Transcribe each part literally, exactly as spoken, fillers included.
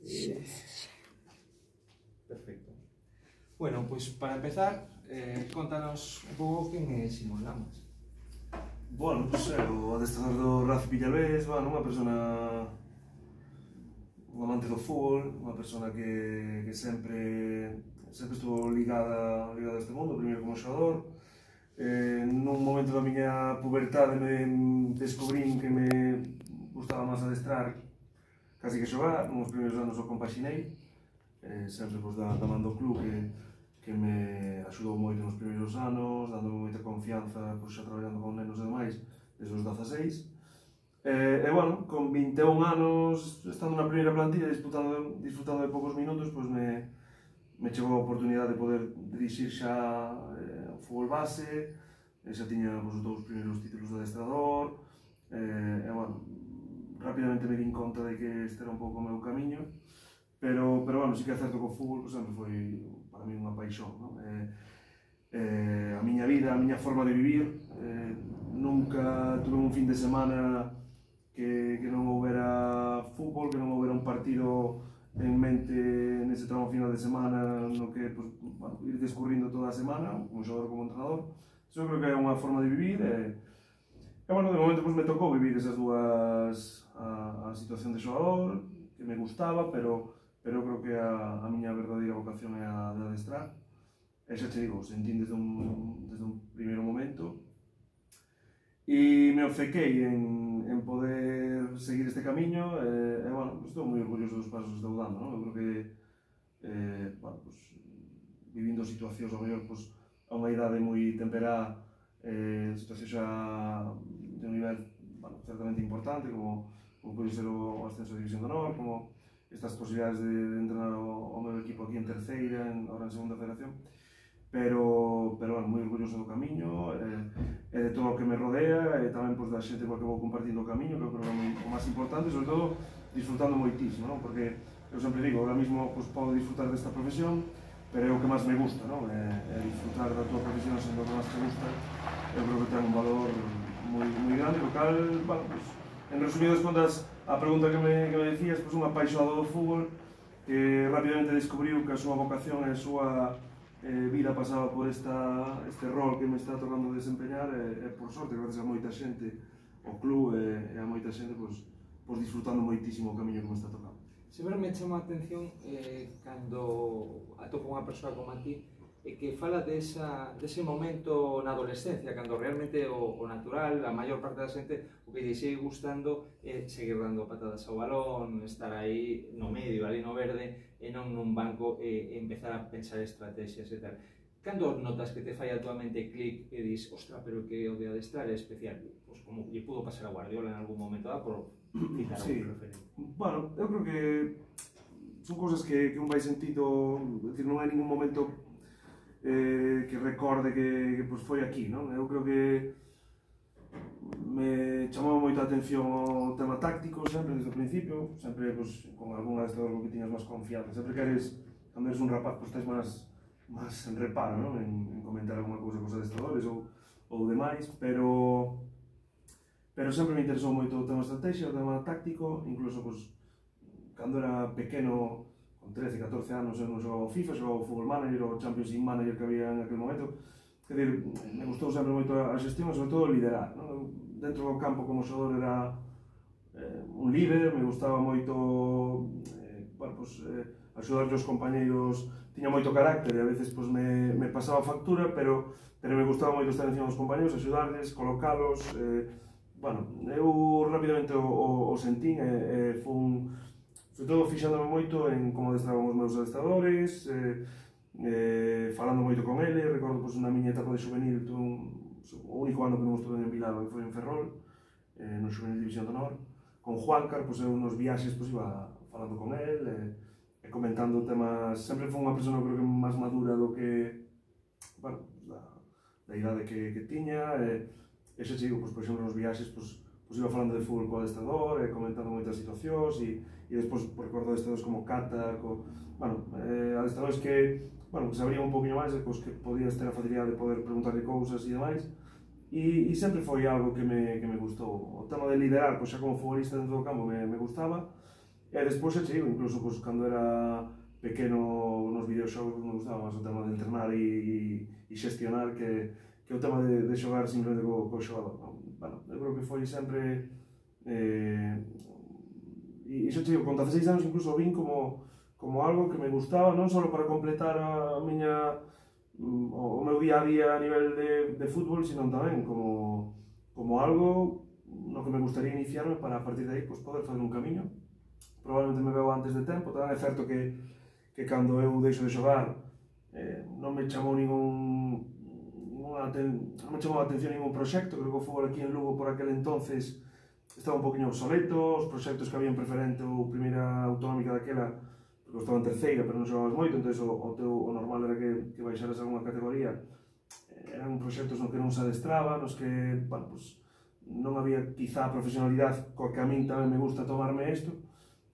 Eh, perfecto. Bueno, pois para empezar, eh, contanos un pouco quen é Simón Lamas. Bueno, pois é o adestrador do Racing Villavés, bueno, unha persona, un amante do fútbol, unha persona que, que sempre, sempre estuvo ligada, ligada a este mundo, primeiro como xogador. Eh, nun momento da miña pubertade me descubrín que me gustaba máis adestrar casi que xogar, nos primeiros anos o compaxinei, eh, sempre pois, da, da man do club que, que me axudou moito nos primeiros anos, dándome moita confianza, pois, xa traballando con nenos e demais, desde os dezaseis. Eh, e, bueno, con vinte e un anos, estando na primeira plantilla, disfrutando, disfrutando de poucos minutos, pois me, me chegou a oportunidade de poder dirixir xa eh, o fútbol base, e xa tiña pois, os dous primeiros títulos de adestrador, eh, e, bueno, rapidamente me din conta de que este era un pouco o meu camiño, pero, pero bueno, sí que é certo que o fútbol pues, sempre foi para mí unha paixón, non? Eh, eh, a miña vida, a miña forma de vivir, eh, nunca tuve un fin de semana que, que non houbera fútbol, que non houbera un partido en mente nese tramo final de semana no que pues, bueno, ir descurrindo toda a semana, como xogador como entrenador. Eso creo que é unha forma de vivir e, e bueno, de momento pues, me tocou vivir esas dúas a, a situación de xogador, que me gustaba, pero, pero creo que a, a miña verdadeira vocación é a de adestrar. E xa te digo, sentín desde un, desde un primeiro momento e me obcequei en, en poder seguir este camiño e, e bueno, estou moi orgulloso dos pasos que estou dando, non? Eu creo que eh, bueno, pues, vivindo situacións ao mellor pues, a unha idade moi temperá, eh, situacións xa de un nivel bueno, certamente importante, como, como pode ser o ascenso de División de Honor, como estas posibilidades de, de entrenar o, o meu equipo aquí en terceira, en, ahora en segunda federación, pero, pero bueno, moi orgulloso do camiño eh, e de todo o que me rodea e tamén pues, da xente coa que vou compartindo o camiño, que eu creo que é o máis importante, sobre todo disfrutando moitísimo, non? Porque eu sempre digo, ahora mismo pues, podo disfrutar desta profesión, pero é o que máis me gusta, non? É, é disfrutar da tua profesión sendo o que máis te gusta, eu creo que ten un valor moi, moi grande, lo cal, bueno, pues, en resumidas contas, a pregunta que me, que me decías, pues, un apaixonado do fútbol que rapidamente descubriu que a súa vocación e a súa eh, vida pasaba por esta, este rol que me está tocando desempeñar e, e por sorte, gracias a moita xente, o club e, e a moita xente, pues, pues, disfrutando moitísimo o camiño que me está tocando. Sempre me chama a atención eh, cando atopo unha persoa como a ti e que fala desa, dese momento na adolescencia, cando realmente o, o natural, a maior parte da xente, o que lle sigue gustando é seguir dando patadas ao balón, estar aí no medio, ali no verde, e non nun banco e, e empezar a pensar estrategias e tal. Cando notas que te fai a tua mente clic e dis, ostra, pero que o de adestrar é especial, pois como lle pudo pasar a Guardiola en algún momento dado, por citar sí. algún referente. Bueno, eu creo que son cousas que, que un vai sentido, decir, non hai ningún momento eh, que recorde que, que pues, foi aquí, non? Eu creo que me chamou moita atención o tema táctico sempre desde o principio, sempre pues, con algún adestrador con que tiñas máis confianza, sempre que eres, cando eres un rapaz, pues, tens máis máis en reparo, non? En, en comentar alguna cousa cos adestradores ou, ou demais, pero pero sempre me interesou moito o tema estrategia, o tema táctico, incluso pues, cando era pequeno, con trece, catorce anos, eu non xogaba o FIFA, xogaba o Football Manager, o Championship Manager que había en aquel momento. Quer dizer, me gustou sempre moito a xestión e sobre todo liderar, non? Dentro do campo como xogador era eh, un líder, me gustaba moito eh, bueno, pues, eh, axudar os compañeiros, tiña moito carácter e a veces pues, me, me pasaba factura, pero, pero me gustaba moito estar encima dos compañeiros, axudarles, colocalos, eh, bueno, eu rapidamente o, o, o sentín e, e fun, sobre todo fixándome moito en como adestraban os meus adestradores, eh, eh, falando moito con ele. Recordo pues, na miña etapa de juvenil, tuve un, o único ano que non estuve en Bilbao que foi en Ferrol, eh, no juvenil División de Honor, con Juancar, pues, eu nos viaxes pues, iba falando con ele e, e comentando temas. Sempre foi unha persona creo que máis madura do que, bueno, da, da idade que, que tiña, e, e xa digo, pues, por exemplo, nos viaxes pues, pues, iba falando de fútbol co adestrador e comentando moitas situacións e, e despois pues, recordo adestradores como Cata, co, bueno, eh, adestradores que, bueno, que sabrían un poquinho máis e pues, que podías ter a facilidade de poder preguntarle cousas e demais. E, e sempre foi algo que me, que me gustou. O tema de liderar, pues, xa como futbolista dentro do campo me, me gustaba, E despois xa che digo, incluso pues, cando era pequeno nos videoxogos me gustaba máis o tema de entrenar e, e, e xestionar que, que o tema de, de xogar simplemente co, co xogador. Non? Bueno, eu creo que foi sempre... Eh, e iso che digo, con dezaseis anos incluso vin como, como algo que me gustaba, non só para completar a, a miña, o, o meu día a día a nivel de, de fútbol, sino tamén como, como algo no que me gustaría iniciarme para a partir de aí pues, poder fazer un camiño. Probablemente me veo antes de tempo, tamén é certo que, que cando eu deixo de xogar eh, non me chamou ningún, ninguna, non me chamou a atención ningún proxecto. Creo que o fútbol aquí en Lugo por aquel entonces estaba un poquinho obsoleto, os proxectos que había en preferente ou primeira autonómica daquela, porque eu estaba en terceira pero non xogabas moito, entón o, o, teu, o normal era que, que baixaras algunha categoría. Eran proxectos no que non se adestraba, nos que, bueno, pues, non había quizá profesionalidade coa que a min tamén me gusta tomarme isto.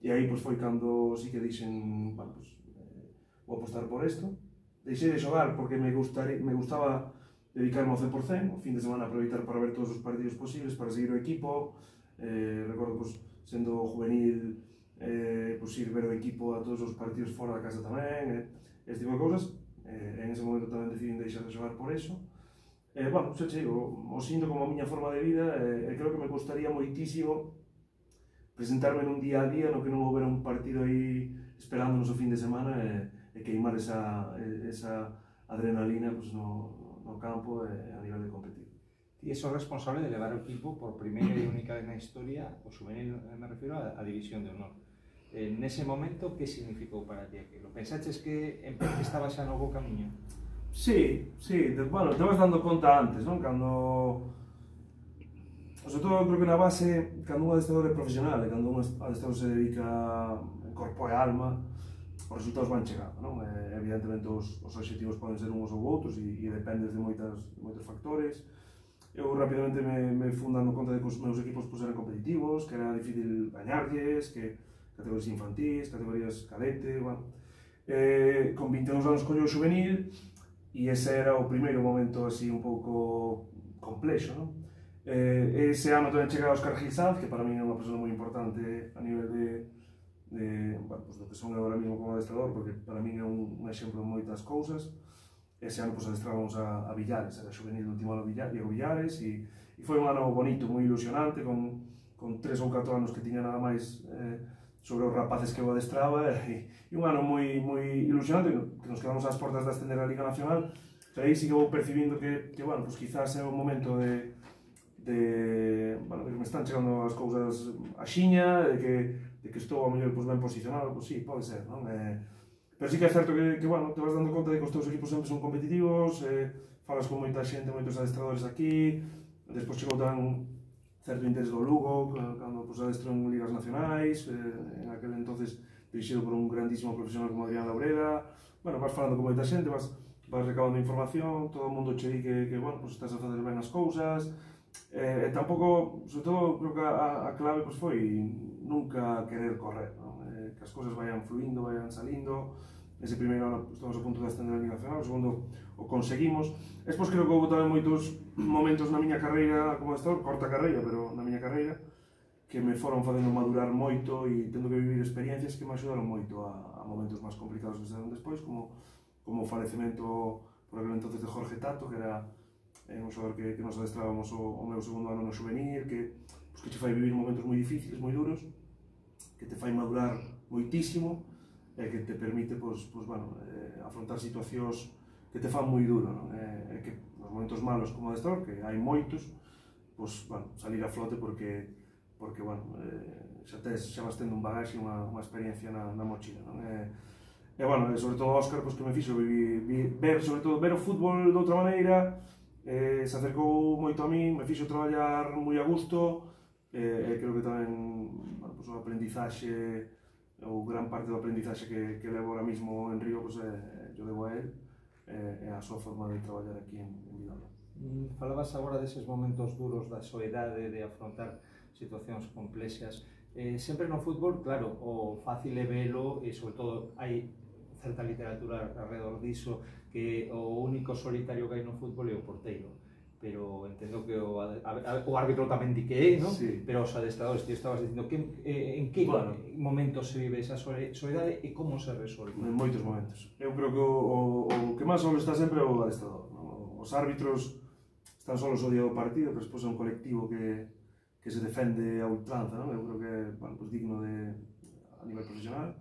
E aí pues, foi cando sí que dixen, bueno, pues, eh, vou apostar por isto. Deixei de xogar porque me, gustare, me gustaba dedicarme ao cen por cen, o fin de semana aproveitar para ver todos os partidos posibles, para seguir o equipo. Eh, recordo, pues, sendo juvenil, eh, pues, ir ver o equipo a todos os partidos fora da casa tamén, eh, este tipo de cousas. Eh, en ese momento tamén decidín deixar de xogar por eso. Eh, bueno, xa che digo, o sinto como a miña forma de vida e eh, creo que me gustaría moitísimo presentarme nun día a día no que non houbera un partido aí esperándonos o fin de semana e, e queimar esa, esa adrenalina pues, no, no campo e a nivel de competir. Ti és o responsable de levar o equipo por primeira e única vez na historia, o juvenil me refiro a, a División de Honor. En ese momento, que significou para ti aquilo? Pensaches que estaba xa no bo camiño? Sí, sí, de, bueno, te vas dando conta antes, non? Cando... Sobre todo, creo que na base, cando un adestrador é profesional e cando un adestrador se dedica en corpo e alma, os resultados van chegando, non? E, evidentemente, os, os obxectivos poden ser uns ou outros e, e dependes de, moitas, de moitos factores. Eu rapidamente me, me fui dando conta de que os meus equipos pues, eran competitivos, que era difícil gañarlles, que categorías infantis, categorías cadete, bueno. Eh, con vinte e dous anos collo o juvenil e ese era o primeiro momento así un pouco complexo, non? Eh, ese ano tamén chega Óscar Gilsaz, que para mí é unha persona moi importante a nivel de, de bueno, pues, do que son agora mesmo como adestrador, porque para mí é un, un exemplo de moitas cousas. Ese ano pues, adestrábamos a, a Villares, era juvenil do último ano Diego Villares, e, e foi un ano bonito, moi ilusionante, con, con tres ou catro anos que tiña nada máis eh, sobre os rapaces que eu adestraba, e, e un ano moi, moi ilusionante, que nos quedamos ás portas de ascender a Liga Nacional, pero aí sí que vou percibindo que, que bueno, pues, quizás é o momento de de, bueno, de que me están chegando as cousas a xiña, de que, de que estou a mellor pues, ben posicionado, pois pues, sí, pode ser, non? Eh, pero sí que é certo que, que, bueno, te vas dando conta de que os teus equipos sempre son competitivos, eh, falas con moita xente, moitos adestradores aquí, despois chegou tan certo interés do Lugo, cando pues, adestro en ligas nacionais, eh, en aquel entonces dirixido por un grandísimo profesional como Adrián Laureda. Bueno, vas falando con moita xente, vas, vas recabando información, todo o mundo che di que, que bueno, pues, estás a fazer ben as cousas. E eh, tampouco, sobre todo, creo que a, a clave pues, foi nunca querer correr, non? Eh, que as cousas vayan fluindo, vayan salindo. Ese primeiro ano pues, estamos a punto de ascender a Liga Nacional, o segundo o conseguimos. Despois creo que houve tamén moitos momentos na miña carreira como adestrador, corta carreira, pero na miña carreira, que me foron facendo madurar moito e tendo que vivir experiencias que me axudaron moito a, a momentos máis complicados que se deron despois, como, como o falecemento por aquel entonces de Jorge Tato, que era é un xogador que, que nos adestrábamos o, o meu segundo ano no juvenil, que, pues, que te fai vivir momentos moi difíciles, moi duros, que te fai madurar moitísimo e que te permite pues, pues, bueno, eh, afrontar situacións que te fan moi duro, non? E, e que nos momentos malos como adestrador, que hai moitos, pues, bueno, salir a flote porque, porque bueno, eh, xa, tes, xa vas tendo un bagaxe, unha, unha experiencia na, na mochila, non? E, e, bueno, e sobre todo Óscar, pues, que me fixo vivir, ver, sobre todo, ver o fútbol de outra maneira. Eh, se acercou moito a min, me fixo traballar moi a gusto, e eh, creo que tamén bueno, pues, o aprendizaxe, ou gran parte do aprendizaxe que, que levo ahora mismo en Río, pues, eh, yo debo a él, eh, é a súa forma de traballar aquí en, en Vilalba. Mm, falabas agora deses momentos duros da soedade, de afrontar situacións complexas. Eh, sempre no fútbol, claro, o fácil é velo, e sobre todo hai certa literatura alrededor diso, que o único solitario que hai no fútbol é o porteiro. pero entendo que o, a, a, o árbitro tamén di que é, non? Sí. Pero os adestradores, ti estabas dicindo que, eh, en que bueno, momentos se vive esa soledade e como se resolve? En moitos momentos. Eu creo que o, o, o que máis solo está sempre o adestrador, non? Os árbitros están solos o día do partido, pero despois é un colectivo que, que se defende a ultranza, non? Eu creo que é bueno, pues, digno de, a nivel profesional.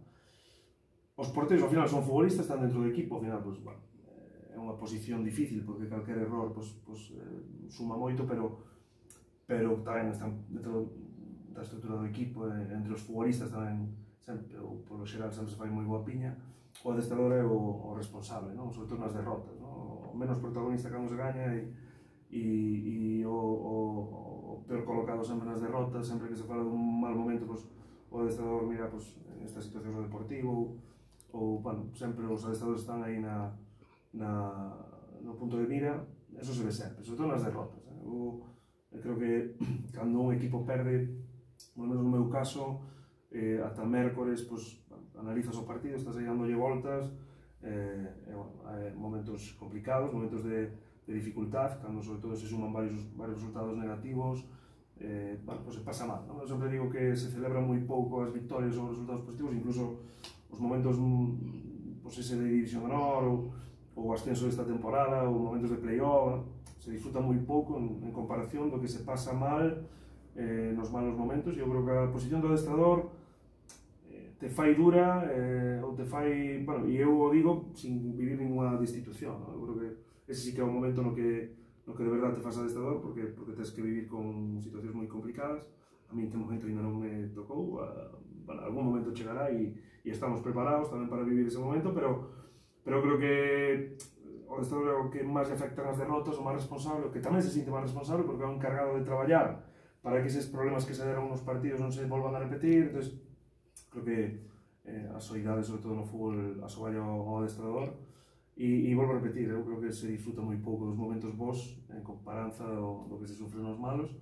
Os porteros ao final son futbolistas, están dentro do equipo, ao final, pues, bueno, é unha posición difícil porque calquer error pues, pues, eh, suma moito, pero, pero tamén están dentro da estrutura do equipo, eh, entre os futbolistas tamén sempre, ou polo xeral sempre se fai moi boa piña. O adestrador é o, o responsable, non? Sobre todo nas derrotas, non? O menos protagonista cando se gaña e, e, e o, o, o peor colocado sempre nas derrotas, sempre que se fala dun mal momento, pues, o adestrador mira pues, en esta situación do deportivo, ou, bueno, sempre os adestradores están aí na Na, no punto de mira, eso se ve sempre, sobre todo nas derrotas. Eh? Eu, eu creo que cando un equipo perde, polo menos no meu caso, eh, ata mércores, pues, analizas o partido, estás aí dándolle voltas, eh, eh, bueno, eh, momentos complicados, momentos de, de dificultad, cando sobre todo se suman varios, varios resultados negativos, eh, bueno, pues se pasa mal, ¿no? Eu sempre digo que se celebran moi pouco as victorias ou os resultados positivos, incluso os momentos pues, ese de División de Honor ou o ascenso desta temporada, ou momentos de play-off, se disfruta moi pouco en, en comparación do que se pasa mal eh, nos malos momentos. Eu creo que a posición do adestrador eh, te fai dura, eh, ou te fai, bueno, e eu o digo sin vivir ninguna destitución, ¿no? Eu creo que ese sí que é o momento no que, no que de verdade te faz adestrador, porque, porque tens que vivir con situacións moi complicadas. A mí en que momento ainda non me tocou, a, bueno, algún momento chegará e, e estamos preparados tamén para vivir ese momento, pero pero creo que o adestrador é o que máis afecta as derrotas, o máis responsable, o que tamén se sinte máis responsable porque é o encargado de traballar para que eses problemas que se deron nos partidos non se volvan a repetir. Entón, creo que eh, a soidade, sobre todo no fútbol, asoballa ao adestrador e, e volvo a repetir, eu creo que se disfruta moi pouco dos momentos bons en comparanza do, do que se sufre nos malos,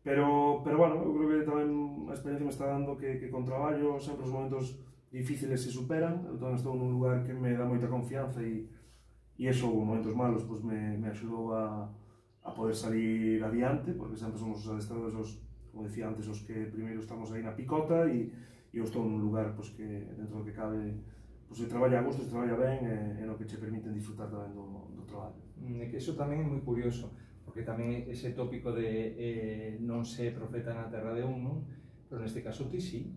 pero, pero bueno, eu creo que tamén a experiencia me está dando que, que con traballo sempre os momentos difíciles se superan. Eu tamén estou nun lugar que me dá moita confianza e, e eso, os momentos malos, pues, me, me axudou a, a poder salir adiante, porque sempre somos os adestradores, os, como decía antes, os que primeiro estamos aí na picota e, e eu estou nun lugar pues, que dentro do que cabe pues, se traballa a gusto, se traballa ben e, e no que che permiten disfrutar tamén do, do traballo. Mm, que eso tamén é moi curioso, porque tamén ese tópico de eh, non ser profeta na terra de un, non? Pero neste caso ti sí.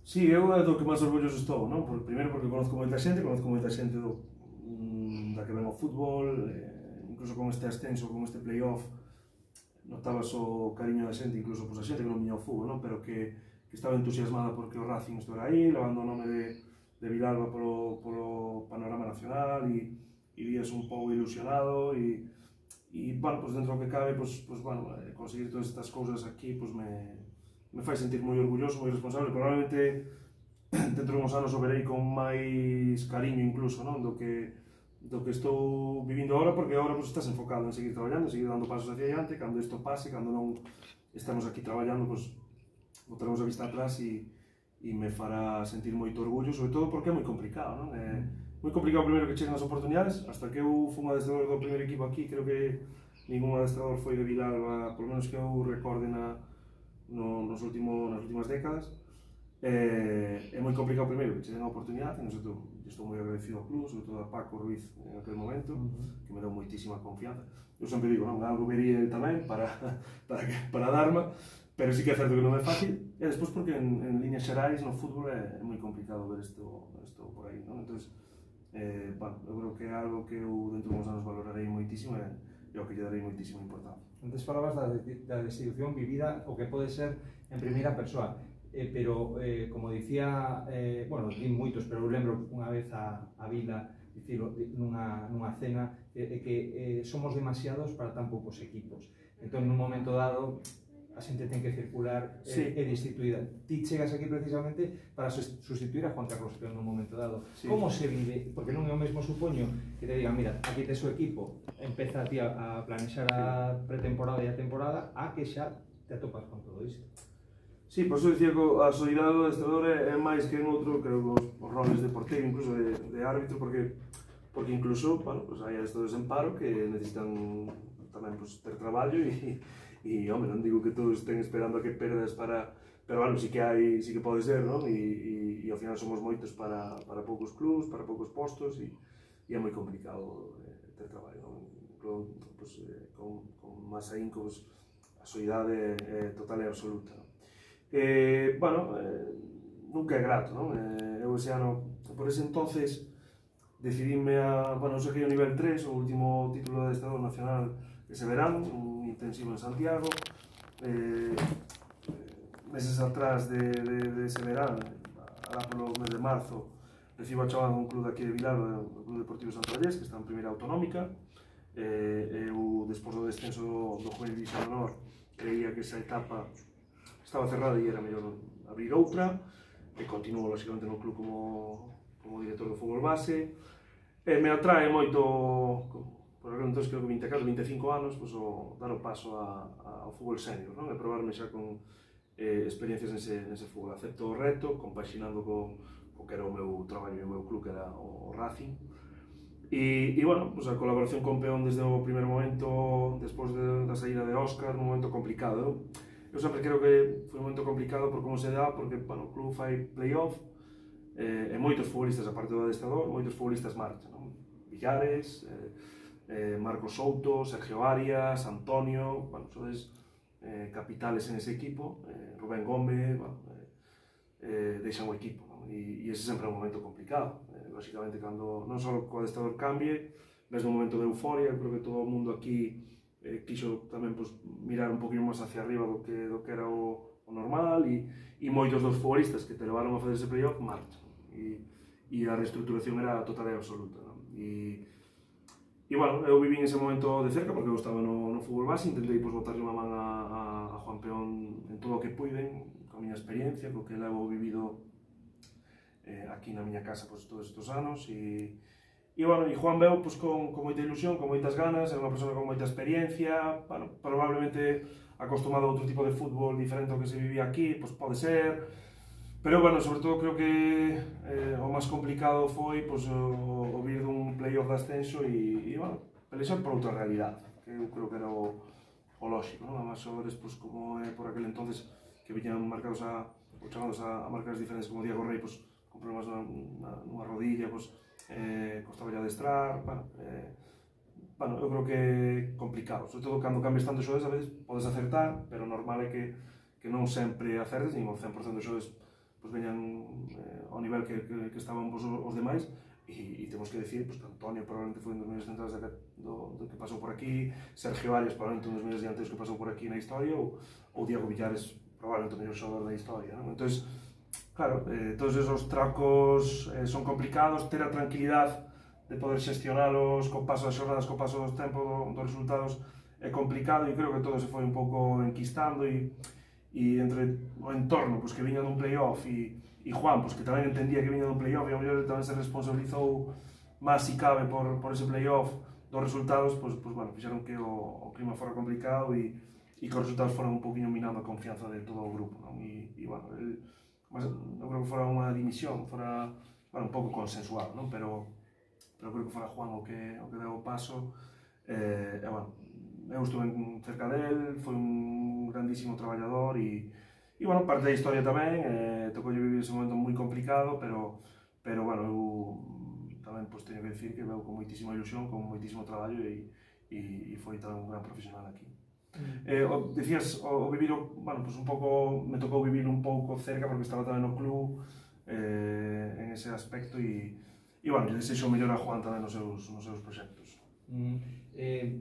Sí, eu é do que máis orgulloso estou, non? Por, primeiro porque conozco moita xente, conozco moita xente do, mm, da que ven o fútbol, eh, incluso con este ascenso, con este play-off, notabas o cariño da xente, incluso pues, a xente que non viña ao fútbol, non? Pero que, que estaba entusiasmada porque o Racing estivera aí, levando o nome de, de Vilalba polo, polo panorama nacional e, e vías un pouco ilusionado e, e bueno, pues dentro do que cabe, pues, pues, bueno, conseguir todas estas cousas aquí, pues me me fai sentir moi orgulloso, moi responsable. Probablemente dentro de uns anos o verei con máis cariño incluso, non? Do que, do que estou vivindo agora, porque agora pues, estás enfocado en seguir traballando, en seguir dando pasos hacia adiante. Cando isto pase, cando non estamos aquí traballando, pues, botaremos a vista atrás e, e me fará sentir moito orgullo, sobre todo porque é moi complicado, non? É moi complicado primeiro que cheguen as oportunidades. Hasta que eu fui un adestrador do primeiro equipo aquí, creo que ningún adestrador foi de Vilalba, por lo menos que eu recorde na No, nos último, nas últimas décadas. Eh, é moi complicado primeiro que che den a oportunidade, non sei, estou moi agradecido ao club, sobre todo a Paco Ruiz en aquel momento, uh-huh. que me deu moitísima confianza. Eu sempre digo, non, algo vería el tamén para, para, que, para darme, pero sí que é certo que non é fácil, e despois porque en, en líneas xerais no fútbol é, é moi complicado ver isto, isto por aí, non? Entón, eh, bueno, eu creo que é algo que eu dentro de uns anos valorarei moitísimo e, e ao que lle darei moitísima importancia. Antes falabas da, da destitución vivida o que pode ser en primeira persoa, eh, pero eh, como dicía, eh, bueno, di moitos, pero eu lembro unha vez a, a Vila dicilo nunha, nunha cena, eh, que eh, somos demasiados para tan poucos equipos. Entón, nun momento dado, a xente ten que circular e sí. eh, destituída. Ti chegas aquí precisamente para sustituir a Juan Carlos Peón nun momento dado. Sí. Como se vive? Porque non é o mesmo, supoño, que te digan, mira, aquí tes o equipo, empeza a ti a, a planexar a pretemporada e a temporada, a que xa te atopas con todo isto. Sí, por eso dicía que a solidariedade do adestrador é, é máis que en outro, creo que os, os roles de porteiro, incluso de, de árbitro, porque porque incluso, bueno, pues hai adestradores en paro que necesitan tamén pues, ter traballo e, e, home, non digo que todos estén esperando a que perdas para... Pero, bueno, sí que hai, sí que pode ser, non? E, e, e ao final somos moitos para, para poucos clubs, para poucos postos e, e é moi complicado eh, ter traballo, non? Incluso, pues, eh, con, con máis ahínco, pues, a soidade é total e absoluta, non? Eh, bueno, eh, nunca é grato, non? Eh, eu ese ano, por ese entonces, decidíme a, bueno, eu saquei o nivel tres, o último título de adestrador nacional ese verán, un intensivo en Santiago. Eh, meses atrás de, de, de ese verán, alá polo mes de marzo, recibo a chamada dun club aquí de Vilalba, o Club Deportivo Santo Vallés, que está en primeira autonómica. Eh, eu, despois do descenso do Juvenil División de Honor, creía que esa etapa estaba cerrada e era mellor abrir outra, e continuo, lógicamente, no club como, como director do fútbol base. E me atrae moito, por aquel entonces creo que vinte e catro, vinte e cinco anos, pues, o, dar o paso a, a, ao fútbol senior, non? E probarme xa con eh, experiencias nese, nese fútbol. Acepto o reto, compaxinando con, con que era o meu traballo e o meu club, que era o, o Racing. E, e bueno, pues, a colaboración con Peón desde o primer momento, despois de, da saída de Óscar, un momento complicado. Eu sempre creo que foi un momento complicado por como se dá, porque bueno, o club fai playoff, eh, e moitos futbolistas, aparte do adestrador, moitos futbolistas marchan, non? Villares, eh, eh, Marcos Souto, Sergio Arias, Antonio, bueno, sodes eh, capitales en ese equipo, eh, Rubén Gómez, bueno, eh, eh, deixan o equipo, non? E, e ese sempre é un momento complicado, eh, lógicamente, cando non só o adestrador cambie, ves un momento de euforia, creo que todo o mundo aquí eh, quixo tamén pues, mirar un poquinho máis hacia arriba do que, do que era o, o normal, e, e moitos dos futbolistas que te levaron a fazer ese playoff marchan, e, e a reestructuración era total e absoluta, non? E, e bueno, eu viví ese momento de cerca porque eu estaba no, no fútbol base, intentei pues, botarle unha man a, a, a Juan Peón en todo o que puiden, con a miña experiencia, co que levo vivido eh, aquí na miña casa pues, todos estes anos, e E, bueno, e Juan veo pues, con, con moita ilusión, con moitas ganas, é unha persona con moita experiencia, bueno, probablemente acostumado a outro tipo de fútbol diferente ao que se vivía aquí, pues pode ser, pero, bueno, sobre todo creo que eh, o máis complicado foi pues, o, o vir dun playoff de ascenso e, e bueno, pelexar por outra realidade, que eu creo que era o, o lógico, non? Además, xogadores, pues, como é por aquel entonces, que viñan marcados a, ou chamados a, a marcas diferentes como Diego Rey, pues, con problemas na, na, nunha rodilla, pues, eh, costaba ya adestrar, bueno, eh, bueno, eu creo que é complicado, sobre todo cando cambias tanto xoves, a veces podes acertar, pero normal é que, que non sempre acertes, nin o cen por cento de xoves pues, veñan eh, ao nivel que, que, que estaban pues, os demais, e, e temos que decir pues, que Antonio probablemente foi un dos mellores centrais do, do que pasou por aquí, Sergio Arias probablemente un dos mellores dianteiros que pasou por aquí na historia, ou, ou Diego Villares probablemente o mellor xogador da historia, non? Entón, claro, eh, todos esos tracos eh, son complicados, ter a tranquilidade de poder xestionalos co paso das xornadas, co paso dos tempos, do, dos resultados é complicado, e creo que todo se foi un pouco enquistando, e, e entre o entorno pues, que viña dun playoff e, e Juan, pues, que tamén entendía que viña dun playoff e ao mellor tamén se responsabilizou máis si cabe por, por ese playoff dos resultados, pues, pues, bueno, fixeron que o, o clima fora complicado e, e que os resultados foran un poquinho minando a confianza de todo o grupo, non? E, e bueno, el, mas non creo que fora unha dimisión, fora bueno, un pouco consensuado, non? Pero, pero creo que fora Juan o que, o que deu o paso, eh, e, bueno, eu estuve cerca del, foi un grandísimo traballador e, e bueno, parte da historia tamén, eh, tocou vivir ese momento moi complicado, pero, pero bueno, eu tamén pues, teño que decir que veu con moitísima ilusión, con moitísimo traballo e, e, e foi tamén un gran profesional aquí. Eh, o, decías, o, o vivir, bueno, pues un pouco, me tocou vivir un pouco cerca porque estaba tamén no club eh, en ese aspecto e, e bueno, eu desexo mellor a Juan tamén nos seus, nos seus proxectos. Mm, eh,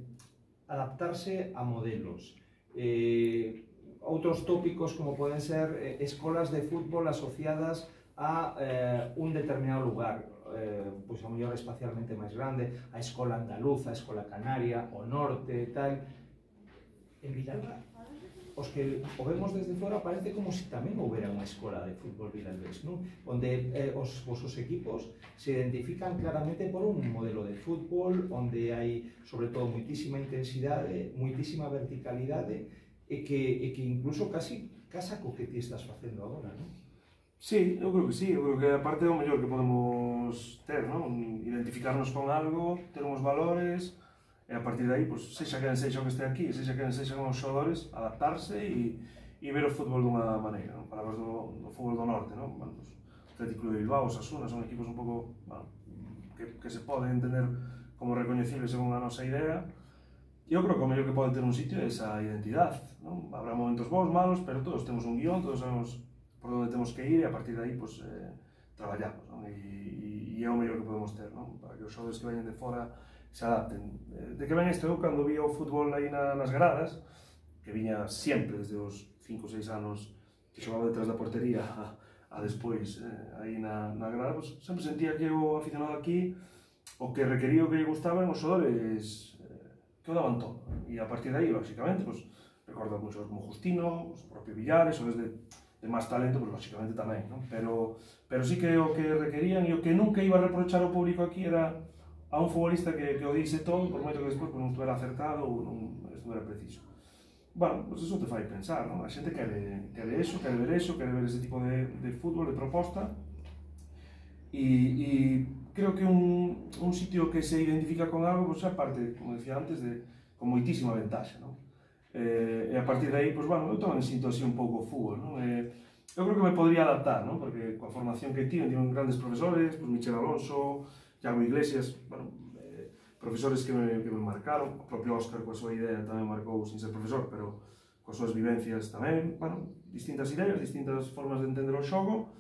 adaptarse a modelos. Eh, outros tópicos como poden ser eh, escolas de fútbol asociadas a eh, un determinado lugar, eh, pois a mellor espacialmente máis grande, a escola andaluza, a escola canaria, o norte, tal. En Vilalba, os que o vemos desde fora, parece como se tamén houbera unha escola de fútbol vilalbés, non? Onde eh, os vosos equipos se identifican claramente por un modelo de fútbol onde hai, sobre todo, moitísima intensidade, moitísima verticalidade e que, e que incluso casi casa co que ti estás facendo agora, non? Sí, eu creo que sí, eu creo que a parte é o mellor que podemos ter, non? Identificarnos con algo, ter uns valores, e a partir de aí, pois, sexa quen sexa o que este aquí, sexa quen sexa os xogadores, adaptarse e, e ver o fútbol dunha maneira, non? Palabras do, do fútbol do norte, non? Bueno, pues, Atlético de Bilbao, Osasuna, son equipos un pouco, bueno, que, que se poden entender como reconocibles según a nosa idea. E eu creo que o mellor que pode ter un sitio é esa identidade, non? Habrá momentos bons, malos, pero todos temos un guión, todos sabemos por onde temos que ir e a partir de aí, pues, eh, traballamos, non? E, e é o mellor que podemos ter, non? Para que os xogadores que veñen de fora se adapten. De que ven isto, eu cando vi o fútbol aí na, nas gradas, que viña sempre desde os cinco ou seis anos que xogaba detrás da portería a, a despois eh, aí na, na grada, pues, sempre sentía que o aficionado aquí o que requería o que lle gustaban os xogadores eh, que o daban todo. E a partir de aí, lógicamente, pues, recordo muchos como Justino, os propio Villares, o desde de máis talento, pues, lógicamente tamén, non? Pero, pero sí que o que requerían e o que nunca iba a reprochar ao público aquí era a un futbolista que, que o dixe todo, por moito que despois pues, non estuvera acertado ou non estuvera preciso. Bueno, pues eso te fai pensar, non? A xente quere, quere eso, quere ver eso, quere ver ese tipo de, de fútbol, de proposta. E, e creo que un, un sitio que se identifica con algo, pues, aparte, como decía antes, de, con moitísima ventaxa, non? Eh, e a partir de aí, pues, bueno, eu tamén sinto así un pouco o fútbol, non? Eh, eu creo que me podría adaptar, non? Porque coa formación que tiven, tiven grandes profesores, pues, Michel Alonso, Iago Iglesias, bueno, eh, profesores que me, que me marcaron, o propio Óscar coa súa idea tamén marcou sin ser profesor, pero coas súas vivencias tamén, bueno, distintas ideas, distintas formas de entender o xogo,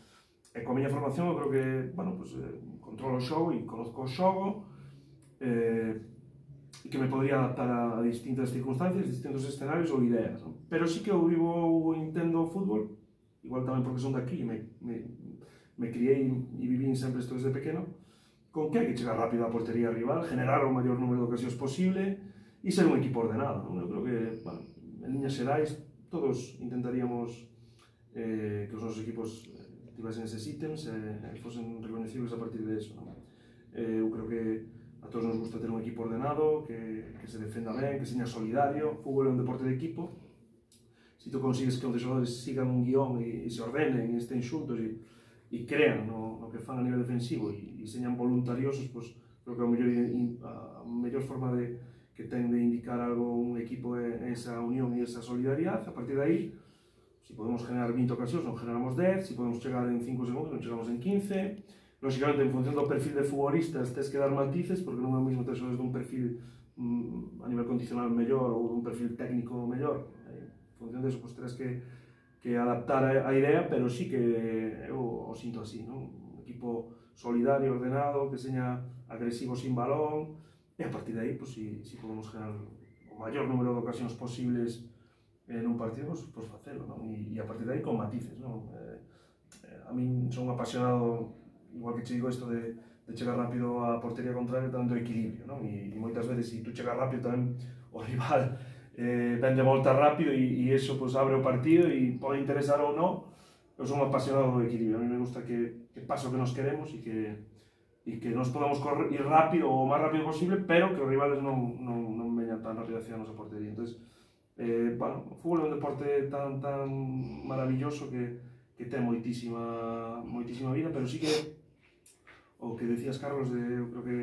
e coa miña formación eu creo que, bueno, pues, eh, controlo o xogo e conozco o xogo, eh, e que me podría adaptar a, a distintas circunstancias, distintos escenarios ou ideas, non? Pero sí que eu vivo ou entendo o fútbol, igual tamén porque son daqui, me, me, me criei e vivín sempre isto desde pequeno, con que hai que chegar rápido á portería rival, generar o maior número de ocasións posible e ser un equipo ordenado, non? Eu creo que, bueno, en liñas xerais, todos intentaríamos eh, que os nosos equipos tivesen eses ítems e eh, fosen reconocibles a partir de eso, non? Eh, eu creo que a todos nos gusta ter un equipo ordenado, que, que se defenda ben, que seña solidario. O fútbol é un deporte de equipo. Se tú consigues que os xogadores sigan un guión e, e se ordenen e estén xuntos e, e crean no, no que fan a nivel defensivo e, e señan voluntariosos, pues, creo que a mellor, a mellor forma de, que ten de indicar algo un equipo é esa unión e esa solidaridade. A partir de aí, se podemos generar vinte ocasións, non generamos dez, se podemos chegar en cinco segundos, non chegamos en quince. Lógicamente, en función do perfil de futbolistas, tens que dar matices, porque non é o mesmo ter xogadores dun perfil mm, a nivel condicional mellor ou dun perfil técnico mellor. En función deso, pues, terás que, que adaptar a, a idea, pero sí que eu o sinto así, non? Un equipo solidario, ordenado, que seña agresivo sin balón, e a partir de aí, pues, si, si podemos generar o maior número de ocasións posibles en un partido, pues, pues facelo, non? E, e a partir de aí con matices, non? Eh, eh, a min son apasionado, igual que che digo isto de, de chegar rápido á portería contraria, tamén do equilibrio, non? E, e moitas veces, se tú chegas rápido, tamén o rival eh, ven de volta rápido e, e eso, pues, abre o partido e pode interesar ou non. Eu son apasionado do equilibrio, a mí me gusta que, que pase o que nos queremos e que, e que nos podamos correr, ir rápido o máis rápido posible, pero que os rivales non, non, non veñan tan rápido hacia a nosa portería. Entonces, eh, bueno, o fútbol é un deporte tan, tan maravilloso que, que ten moitísima, moitísima vida, pero sí que o que decías, Carlos, de, eu creo que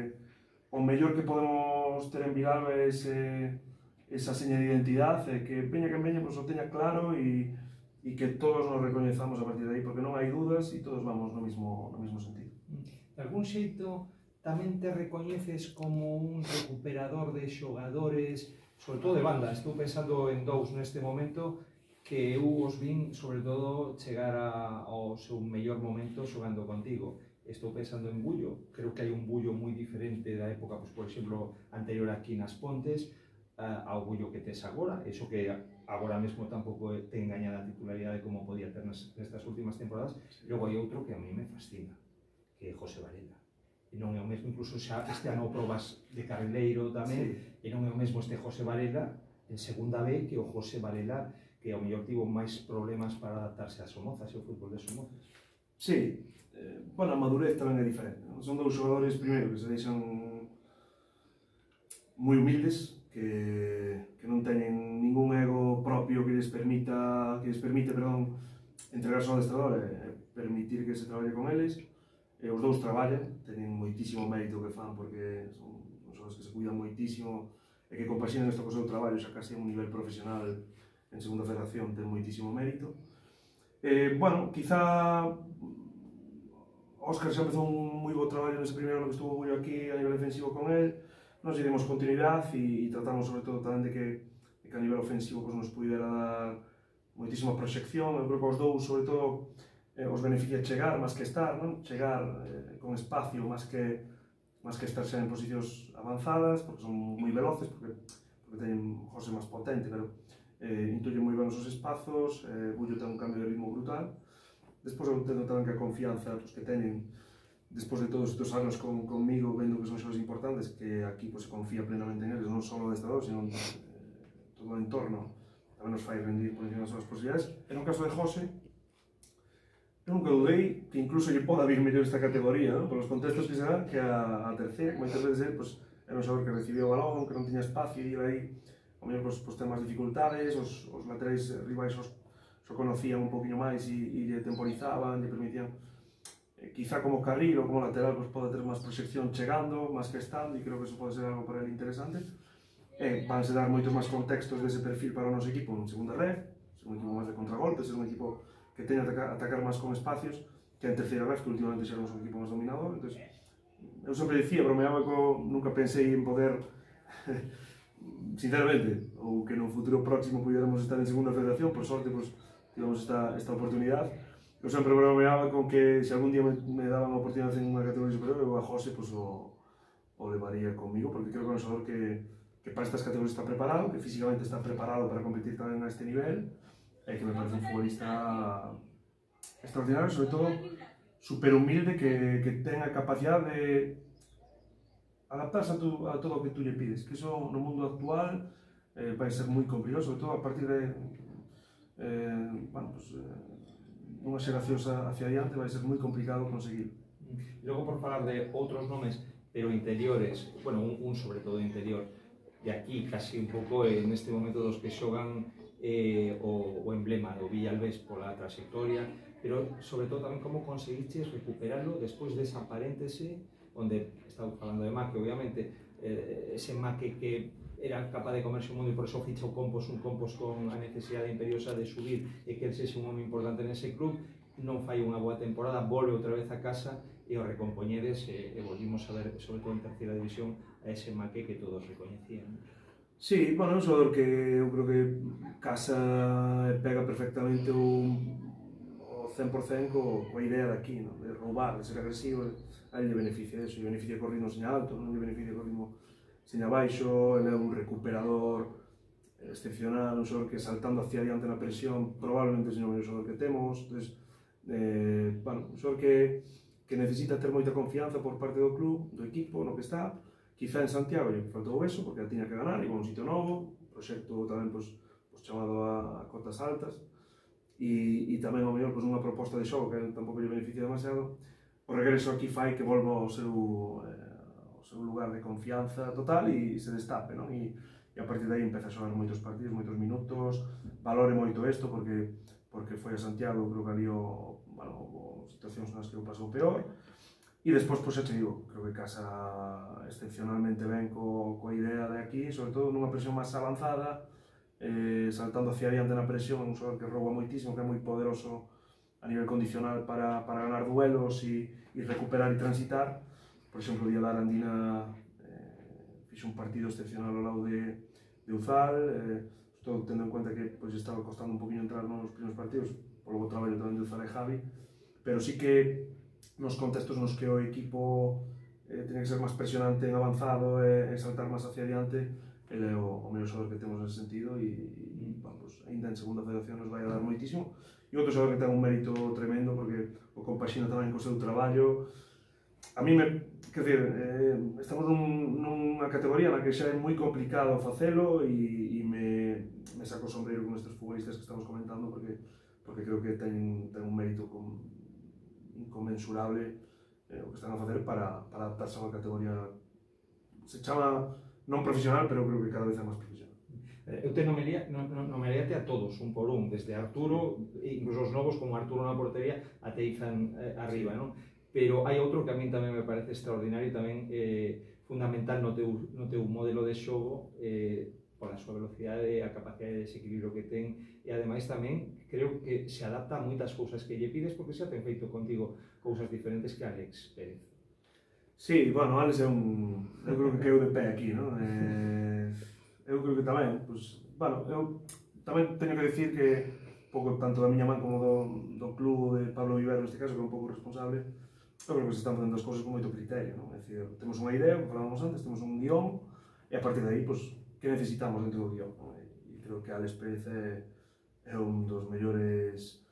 o mellor que podemos ter en Vilalba é ese, esa seña de identidade, que veña que veña, pues, o teña claro e, e que todos nos recoñezamos a partir de aí, porque non hai dudas e todos vamos no mismo, no mismo sentido. De algún xeito, tamén te recoñeces como un recuperador de xogadores, sobre todo de banda. Estou pensando en dous neste momento, que eu os vin, sobre todo, chegar a, ao seu mellor momento xogando contigo. Estou pensando en Bullo, creo que hai un Bullo moi diferente da época, pues, por exemplo, anterior aquí nas Pontes, uh, ao Bullo que tes agora, eso que agora mesmo tampouco ten gañada a titularidade como podía ter nestas últimas temporadas. Logo hai outro que a mí me fascina, que é José Varela. E non é o mesmo, incluso xa este ano probas de carrileiro tamén, sí. E non é o mesmo este José Varela en segunda B que o José Varela, que ao mellor tivo máis problemas para adaptarse a Somozas e ao fútbol de Somozas. Sí. Eh, bueno, a madurez tamén é diferente, non? Son dous xogadores, primeiro, que se deixan moi humildes, que, que non teñen ningún ego propio que les permita, que les permite, perdón, entregarse ao adestrador e permitir que se traballe con eles. E os dous traballan, teñen moitísimo mérito que fan, porque son xogadores que se cuidan moitísimo e que compaxinen isto co seu traballo xa casi a un nivel profesional en segunda federación ten moitísimo mérito. Eh, bueno, quizá Óscar xa empezou un moi bo traballo nese primeiro ano que estuvo Bullo aquí a nivel defensivo con él, nos dimos continuidade e, e tratamos sobre todo tamén de que, de que a nivel ofensivo pues, nos pudera dar moitísima proxección. Eu creo que os dous, sobre todo, eh, os beneficia chegar máis que estar, non? Chegar eh, con espacio máis que máis que estar xa en posicións avanzadas, porque son moi veloces, porque, porque teñen José máis potente, pero eh, intuyen moi ben os seus espazos, eh, Bullo ten un cambio de ritmo brutal. Despois eu entendo tamén que a confianza pues, que teñen despois de todos estes anos con, conmigo, vendo que son xoves importantes, que aquí pues, se confía plenamente en eles, non só o adestrador, sino eh, todo o entorno, tamén nos fai rendir por encima das súas posibilidades. En o caso de José, eu nunca dudei que incluso lle poda vir mellor esta categoría, ¿no? Por os contextos que se dan, que a, a terceira, que moitas veces pues, era un xogador que recibía o balón, que non tiña espacio e ir aí, ao mellor pues, pues, ten máis dificultades, os, os laterais rivais os, os conocían un poquinho máis e, e lle temporizaban, lle permitían, eh, quizá como carril ou como lateral, pues, pode ter máis proxección chegando, máis que estando, e creo que eso pode ser algo para ele interesante. Eh, vanse dar moitos máis contextos dese perfil para o noso equipo en segunda red, ser un equipo máis de contragolpe, ser un equipo que teña que atacar, atacar máis con espacios, que en terceira ref, que últimamente xeramos un equipo máis dominador. Entón, eu sempre dicía, bromeaba que nunca pensei en poder, sinceramente, ou que no futuro próximo pudiéramos estar en segunda federación, por sorte, pues, tivemos esta, esta oportunidade. Eu sempre bromeaba con que se algún día me, me daban a oportunidade en unha categoría superior, eu a José pues, o, o levaría conmigo, porque creo que é un xogador que, que para estas categorías está preparado, que físicamente está preparado para competir tamén a este nivel, e que me parece un futbolista extraordinario, sobre todo super humilde, que, que ten a capacidade de adaptarse a, tu, a todo o que tú lle pides, que iso no mundo actual eh, vai ser moi complicado, sobre todo a partir de eh, bueno, pues, eh, unha xeración hacia adiante vai ser moi complicado conseguir. E logo, por falar de outros nomes, pero interiores, bueno, un, un sobre todo interior, de aquí casi un pouco en este momento dos que xogan eh, o, o emblema do Villalbés pola trayectoria, pero sobre todo tamén como conseguiches recuperarlo despois desa paréntese onde estamos falando de Maque, obviamente eh, ese Maque que era capaz de comerse o mundo e por eso ficha o Compos, un Compos con a necesidade imperiosa de subir e que el sexe un home importante nese club, non fai unha boa temporada, volve outra vez a casa e o recompoñedes e, e volvimos a ver, sobre todo en terceira división, a ese Maque que todos recoñecían. Sí, bueno, é un xogador que eu creo que casa e pega perfectamente o, o cen por cen co, coa idea de aquí, ¿no? De roubar, de ser agresivo, a ele lle beneficia eso, lle beneficia co ritmo seña alto, non lle beneficia co ritmo seña baixo, ele é un recuperador excepcional, un xogador que saltando hacia adiante na presión, probablemente é o mellor xogador que temos, entonces, eh, bueno, un xogador que, que necesita ter moita confianza por parte do club, do equipo, no que está. Quizá en Santiago lle faltou eso, porque a tiña que ganar, iba a un sitio novo, proxecto tamén pues, pues, chamado a, a cotas altas, e, e tamén ao mellor pues, unha proposta de xogo que tampouco lle beneficia demasiado. O regreso aquí fai que volva ao seu, eh, ao seu lugar de confianza total e, e se destape, non? E, e a partir de aí empeza a xogar moitos partidos, moitos minutos, valore moito isto, porque, porque foi a Santiago, creo que ali o, bueno, o situacións nas que o pasou peor. E despois, pois, xa te digo, creo que casa excepcionalmente ben co, coa idea de aquí, sobre todo nunha presión máis avanzada, eh, saltando hacia adiante na presión, un xogador que rouba moitísimo, que é moi poderoso a nivel condicional para, para ganar duelos e, e recuperar e transitar. Por exemplo, o día da Arandina eh, fixe un partido excepcional ao lado de, de Uzal, eh, estou tendo en cuenta que pois, estaba costando un poquinho entrar nos primeiros partidos, polo bo traballo tamén de Uzal e Javi, pero sí que nos contextos nos que o equipo eh, tiene que ser máis presionante en avanzado e, e saltar máis hacia adiante, ele é o, o mellor xogador que temos nesse sentido e, e vamos, ainda en segunda federación nos vai a dar moitísimo. E outro xogador que ten un mérito tremendo porque o compaxina tamén co seu traballo. A mí me, quer dizer, eh, estamos nun, nunha categoría na que xa é moi complicado facelo e, e me, me saco o sombreiro con estes futbolistas que estamos comentando porque, porque creo que ten, ten un mérito con, inconmensurable eh, o que están a facer para, para adaptarse a unha categoría, se chama non profesional, pero creo que cada vez é máis profesional. Eu te nomearía, nomearíate a todos, un por un, desde Arturo, incluso os novos como Arturo na portería, até Izan eh, arriba, non? Pero hai outro que a mí tamén me parece extraordinario, tamén eh, fundamental no teu, no teu modelo de xogo, eh, pola súa velocidade, a capacidade de desequilibrio que ten, e ademais tamén creo que se adapta a moitas cousas que lle pides, porque xa ten feito contigo cousas diferentes que Alex Pérez. Sí, bueno, Alex é un... eu creo que queu de pé aquí, non? Eh, eu creo que tamén, pues, bueno, eu tamén teño que decir que pouco tanto da miña man como do, do club de Pablo Vivero neste caso, que é un pouco responsable, eu creo que se están facendo as cousas con moito criterio, non? É dicir, temos unha idea, como falábamos antes, temos un guión, e a partir de aí, pues, que necesitamos dentro do guión, non? E creo que Alex Pérez é, é un dos mellores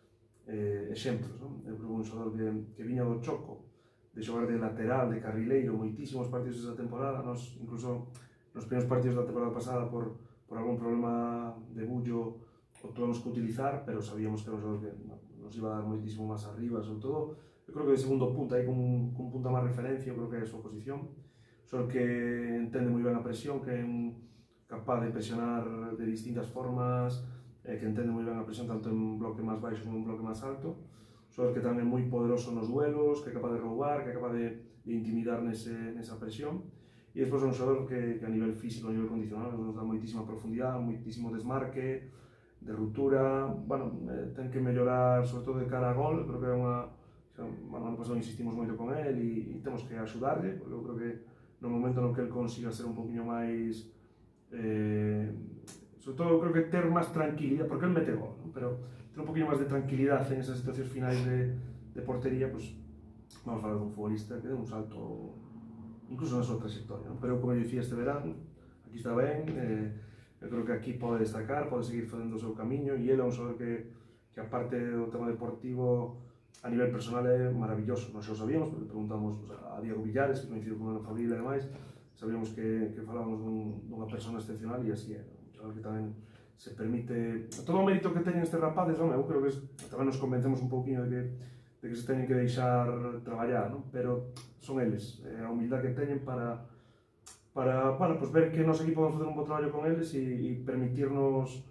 eh, exemplos, non? Eu creo que un xogador que, que viña do Choco, de xogar de lateral, de carrileiro, moitísimos partidos esa temporada, nos, incluso nos primeiros partidos da temporada pasada por, por algún problema de bullo o tuvemos que utilizar, pero sabíamos que era un xogador que nos iba a dar moitísimo máis arriba, sobre todo, eu creo que de segundo punta, aí con, con punta máis referencia, eu creo que é a súa posición, só que entende moi ben a presión, que é un capaz de presionar de distintas formas, eh, que entende moi ben a presión tanto en bloque máis baixo como en bloque máis alto, xogador que tamén é moi poderoso nos duelos, que é capaz de roubar, que é capaz de, de intimidar nese, nesa presión, e despois é un xogador que, que a nivel físico, a nivel condicional, nos dá moitísima profundidade, moitísimo desmarque, de ruptura, bueno, eh, ten que mellorar, sobre todo de cara a gol, creo que é unha... Bueno, ano pasado insistimos moito con el e, e temos que axudarle, porque eu creo que no momento no que el consiga ser un poquinho máis eh, sobre todo eu creo que ter máis tranquilidade, porque el mete gol, ¿no? Pero ter un poquinho máis de tranquilidade en esas situacións finais de, de portería, pues, vamos a falar dun futbolista que dé un salto incluso na súa trayectoria, ¿no? Pero como eu dicía este verano, aquí está ben, eh, eu creo que aquí pode destacar, pode seguir facendo o seu camiño, e ele é un xogador que, que aparte do tema deportivo a nivel personal é maravilloso. Nós xa o sabíamos, porque preguntamos pues, a Diego Villares, que coincidiu con a Fabril e demais, sabíamos que, que falábamos dun, dunha persona excepcional, e así é, un chaval que tamén se permite, todo o mérito que teñen estes rapaces, non? Eu creo que tamén nos convencemos un pouquinho de que, de que se teñen que deixar traballar, non? Pero son eles, é a humildade que teñen para, para, para pues, ver que nos equipo vamos facer un bo traballo con eles e, e permitirnos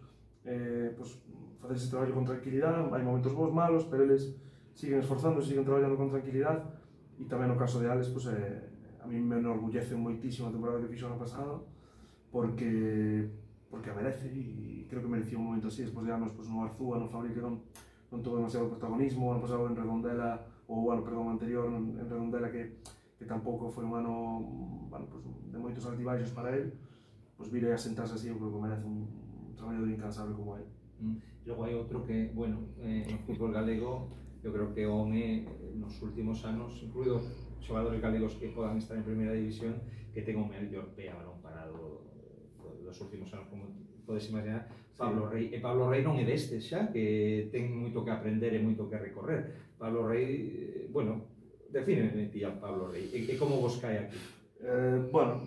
eh, pues, facer ese traballo con tranquilidade. Hai momentos bons, malos, pero eles siguen esforzando, siguen traballando con tranquilidade, e tamén no caso de Alex, pues, eh, a mí me enorgullece moitísimo a temporada que fixo ano pasado, porque porque a merece, e creo que merecía un momento así, despois de anos pues, no Arzúa, no Fabril, que non, non tuvo demasiado protagonismo, ano pasado en Redondela, ou o ano, perdón, anterior en Redondela, que, que tampouco foi un ano bueno, pues, de moitos altibaixos para él, pues vire a sentarse así, eu creo que merece un, un traballador incansable como él. Mm. Logo hai outro que, bueno, eh, no fútbol galego, eu creo que home nos últimos anos, incluído xogadores galegos que podan estar en primeira división, que ten o mellor pé a balón parado dos últimos anos, como podes imaginar, Pablo Rey. E Pablo Rey non é destes xa, que ten moito que aprender e moito que recorrer. Pablo Rey, bueno, defíneme ti a Pablo Rey, e, e como vos cae aquí? Eh, bueno,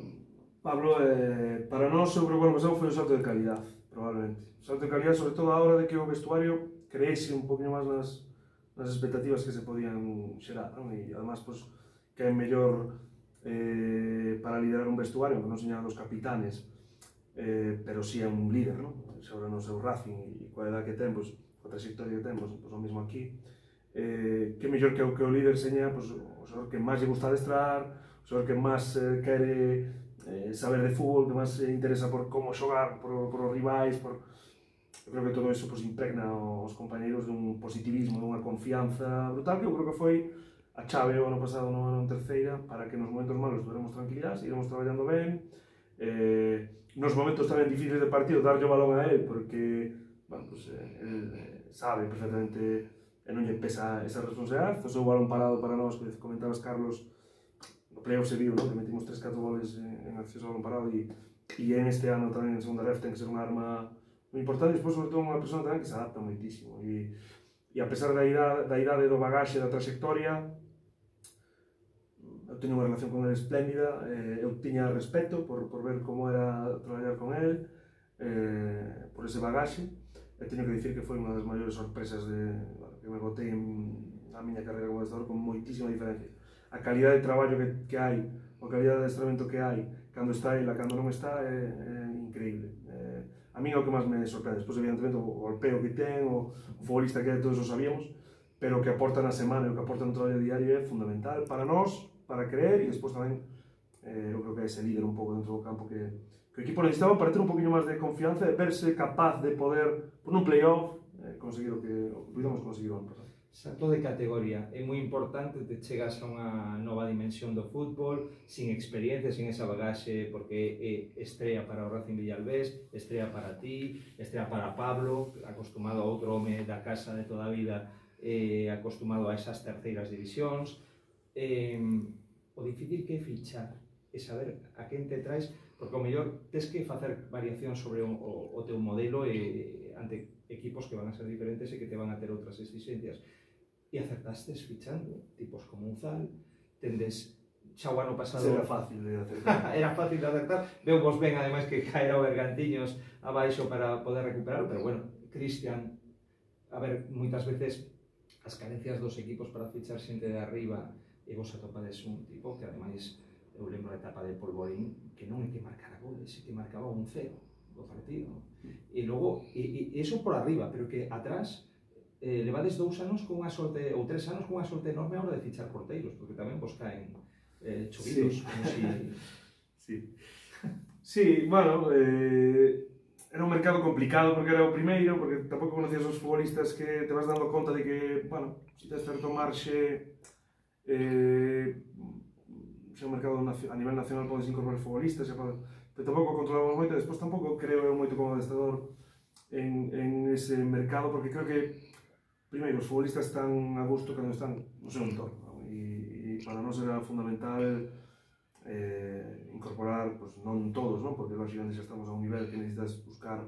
Pablo, eh, para nós, eu creo que o ano pasado foi un salto de calidad, probablemente. Un salto de calidad, sobre todo a hora de que o vestuario creese un poquinho máis nas, nas expectativas que se podían xerar, non? E, además, pues, que é mellor eh, para liderar un vestuario, que non señalan os capitanes, eh, pero si sí é un líder, non? Xa ahora no seu Racing e coa edad que ten, pues, coa trayectoria que ten, pues, pues, o mismo aquí, eh, que mellor que o, que o líder seña pues, o xogador que máis lle gusta adestrar, o xogador que máis eh, quere eh, saber de fútbol, que máis se interesa por como xogar, por, por os rivais, por... Eu creo que todo iso pues, impregna os compañeiros dun positivismo, dunha confianza brutal, que eu creo que foi a chave o ano pasado no ano en terceira para que nos momentos malos tuveremos tranquilidade, iremos traballando ben, eh, nos momentos tamén difíciles de partido darlle o balón a él, porque bueno, pues, eh, él eh, sabe perfectamente e non lle pesa esa responsabilidade. O seu balón parado para nós, que comentabas, Carlos, no playoff se viu, ¿no? Que metimos tres catro goles en, en acceso ao balón parado, e, e en este ano tamén en segunda ref ten que ser unha arma moi importante, e despois sobre todo unha persona tamén que se adapta moitísimo, e, e a pesar da idade, da idade, do bagaxe, da trayectoria, eu teño unha relación con ele espléndida, eh, eu tiña respeto por, por ver como era traballar con ele, eh, por ese bagaxe, e teño que dicir que foi unha das maiores sorpresas de, bueno, que me botei en, na miña carreira como adestrador, con moitísima diferencia. A calidade de traballo que, que hai, a calidade de adestramento que hai, cando está ele, cando non está, é, é increíble. Eh, a mí é o que máis me sorprende, despois evidentemente o golpeo que ten, o, o futbolista que é, todos o sabíamos, pero o que aporta na semana e o que aporta no traballo diario é fundamental para nós, para creer, e despois tamén eh, eu creo que é ese líder un pouco dentro do campo que, que o equipo necesitaba para ter un poquinho máis de confianza e verse capaz de poder, por un playoff, eh, conseguir o que, o que pudimos conseguir o ano pasado. Salto de categoría, é moi importante, te chegas a unha nova dimensión do fútbol, sin experiencia, sin esa bagaxe, porque é estrella para o Racing Villalbés, estrella para ti, estrella para Pablo, acostumado a outro home da casa de toda a vida, eh, acostumado a esas terceiras divisións. Eh, o difícil que é fichar e saber a quen te traes, porque o mellor tes que facer variacións sobre o, o, o teu modelo e, ante equipos que van a ser diferentes e que te van a ter outras exigencias. E acertastes fichando tipos como Uzal, tendes xa o ano pasado... Era fácil de acertar. Era fácil de acertar, veu vos ben ademais que caera o Bergantiños abaixo para poder recuperar, pero bueno, Cristian, a ver, moitas veces as carencias dos equipos para fichar xente de arriba e vos atopades un tipo que ademais, eu lembro a etapa de Polvorín, que non é que marcara goles, é que marcaba un cero do partido. E logo, e, e iso por arriba, pero que atrás eh, levades dous anos cunha sorte, ou tres anos cunha sorte enorme a hora de fichar porteiros, porque tamén vos caen eh, chovidos, sí. Como si... Sí. Sí, bueno, eh, era un mercado complicado porque era o primeiro, porque tampouco conocías os futbolistas que te vas dando conta de que, bueno, se tes certo marxe, eh, se é un mercado a nivel nacional podes incorporar futbolistas, pode, pero tampouco controlamos moito, despois tampouco creo eu moito como adestrador en, en ese mercado, porque creo que primeiro, os futbolistas están a gusto cando están no seu entorno, ¿no? E, e para nós era fundamental eh, incorporar, pues, non todos, ¿no? Porque lógicamente xa estamos a un nivel que necesitas buscar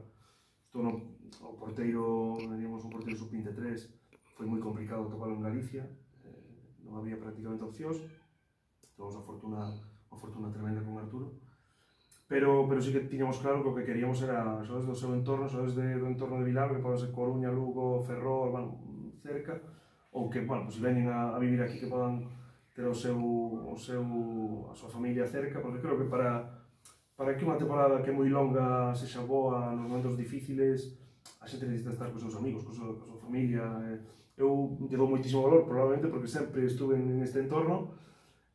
isto no, o porteiro, diríamos un porteiro sub veintitrés, foi moi complicado topalo en Galicia, eh, non había prácticamente opcións, tuvemos a fortuna, a fortuna tremenda con Arturo, pero, pero sí que tiñamos claro que o que queríamos era xogadores do seu entorno, xogadores de, do entorno de Vilalba, que poden ser Coruña, Lugo, Ferrol, bueno, cerca, ou que, bueno, pues, se veñen a, a vivir aquí que podan ter o seu, o seu, a súa familia cerca, porque creo que para, para que unha temporada que é moi longa sexa boa nos momentos difíciles, a xente necesita estar cos seus amigos, cos súa, súa familia. Eu lle dou moitísimo valor, probablemente, porque sempre estuve en este entorno,